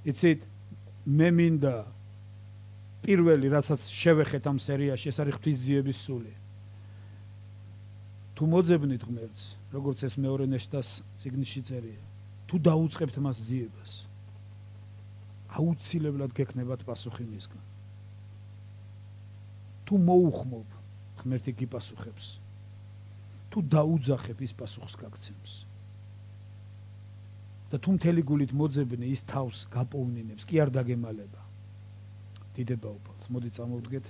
იცით, მე მინდა პირველი, რასაც შევეხეთ ამ სერიაში, ეს არის ღვთისძიების სული. თუ მოძებნით ღმერთს, როგორც ეს მეორე ნეშტას წიგნში წერია, თუ დაუწყებთ მას ძიებას, აუცილებლად გექნებათ პასუხი მისგან. თუ მოუხმობ, ღმერთი გიპასუხებს. თუ დაუძახებ, ის პასუხს გაგცემს. და თუ მთელი გულით მოძებნი, ის თავს გაპოვნინებს, კი არ დაგემალება. დიდება უფალს. მოდი წამოვდგეთ.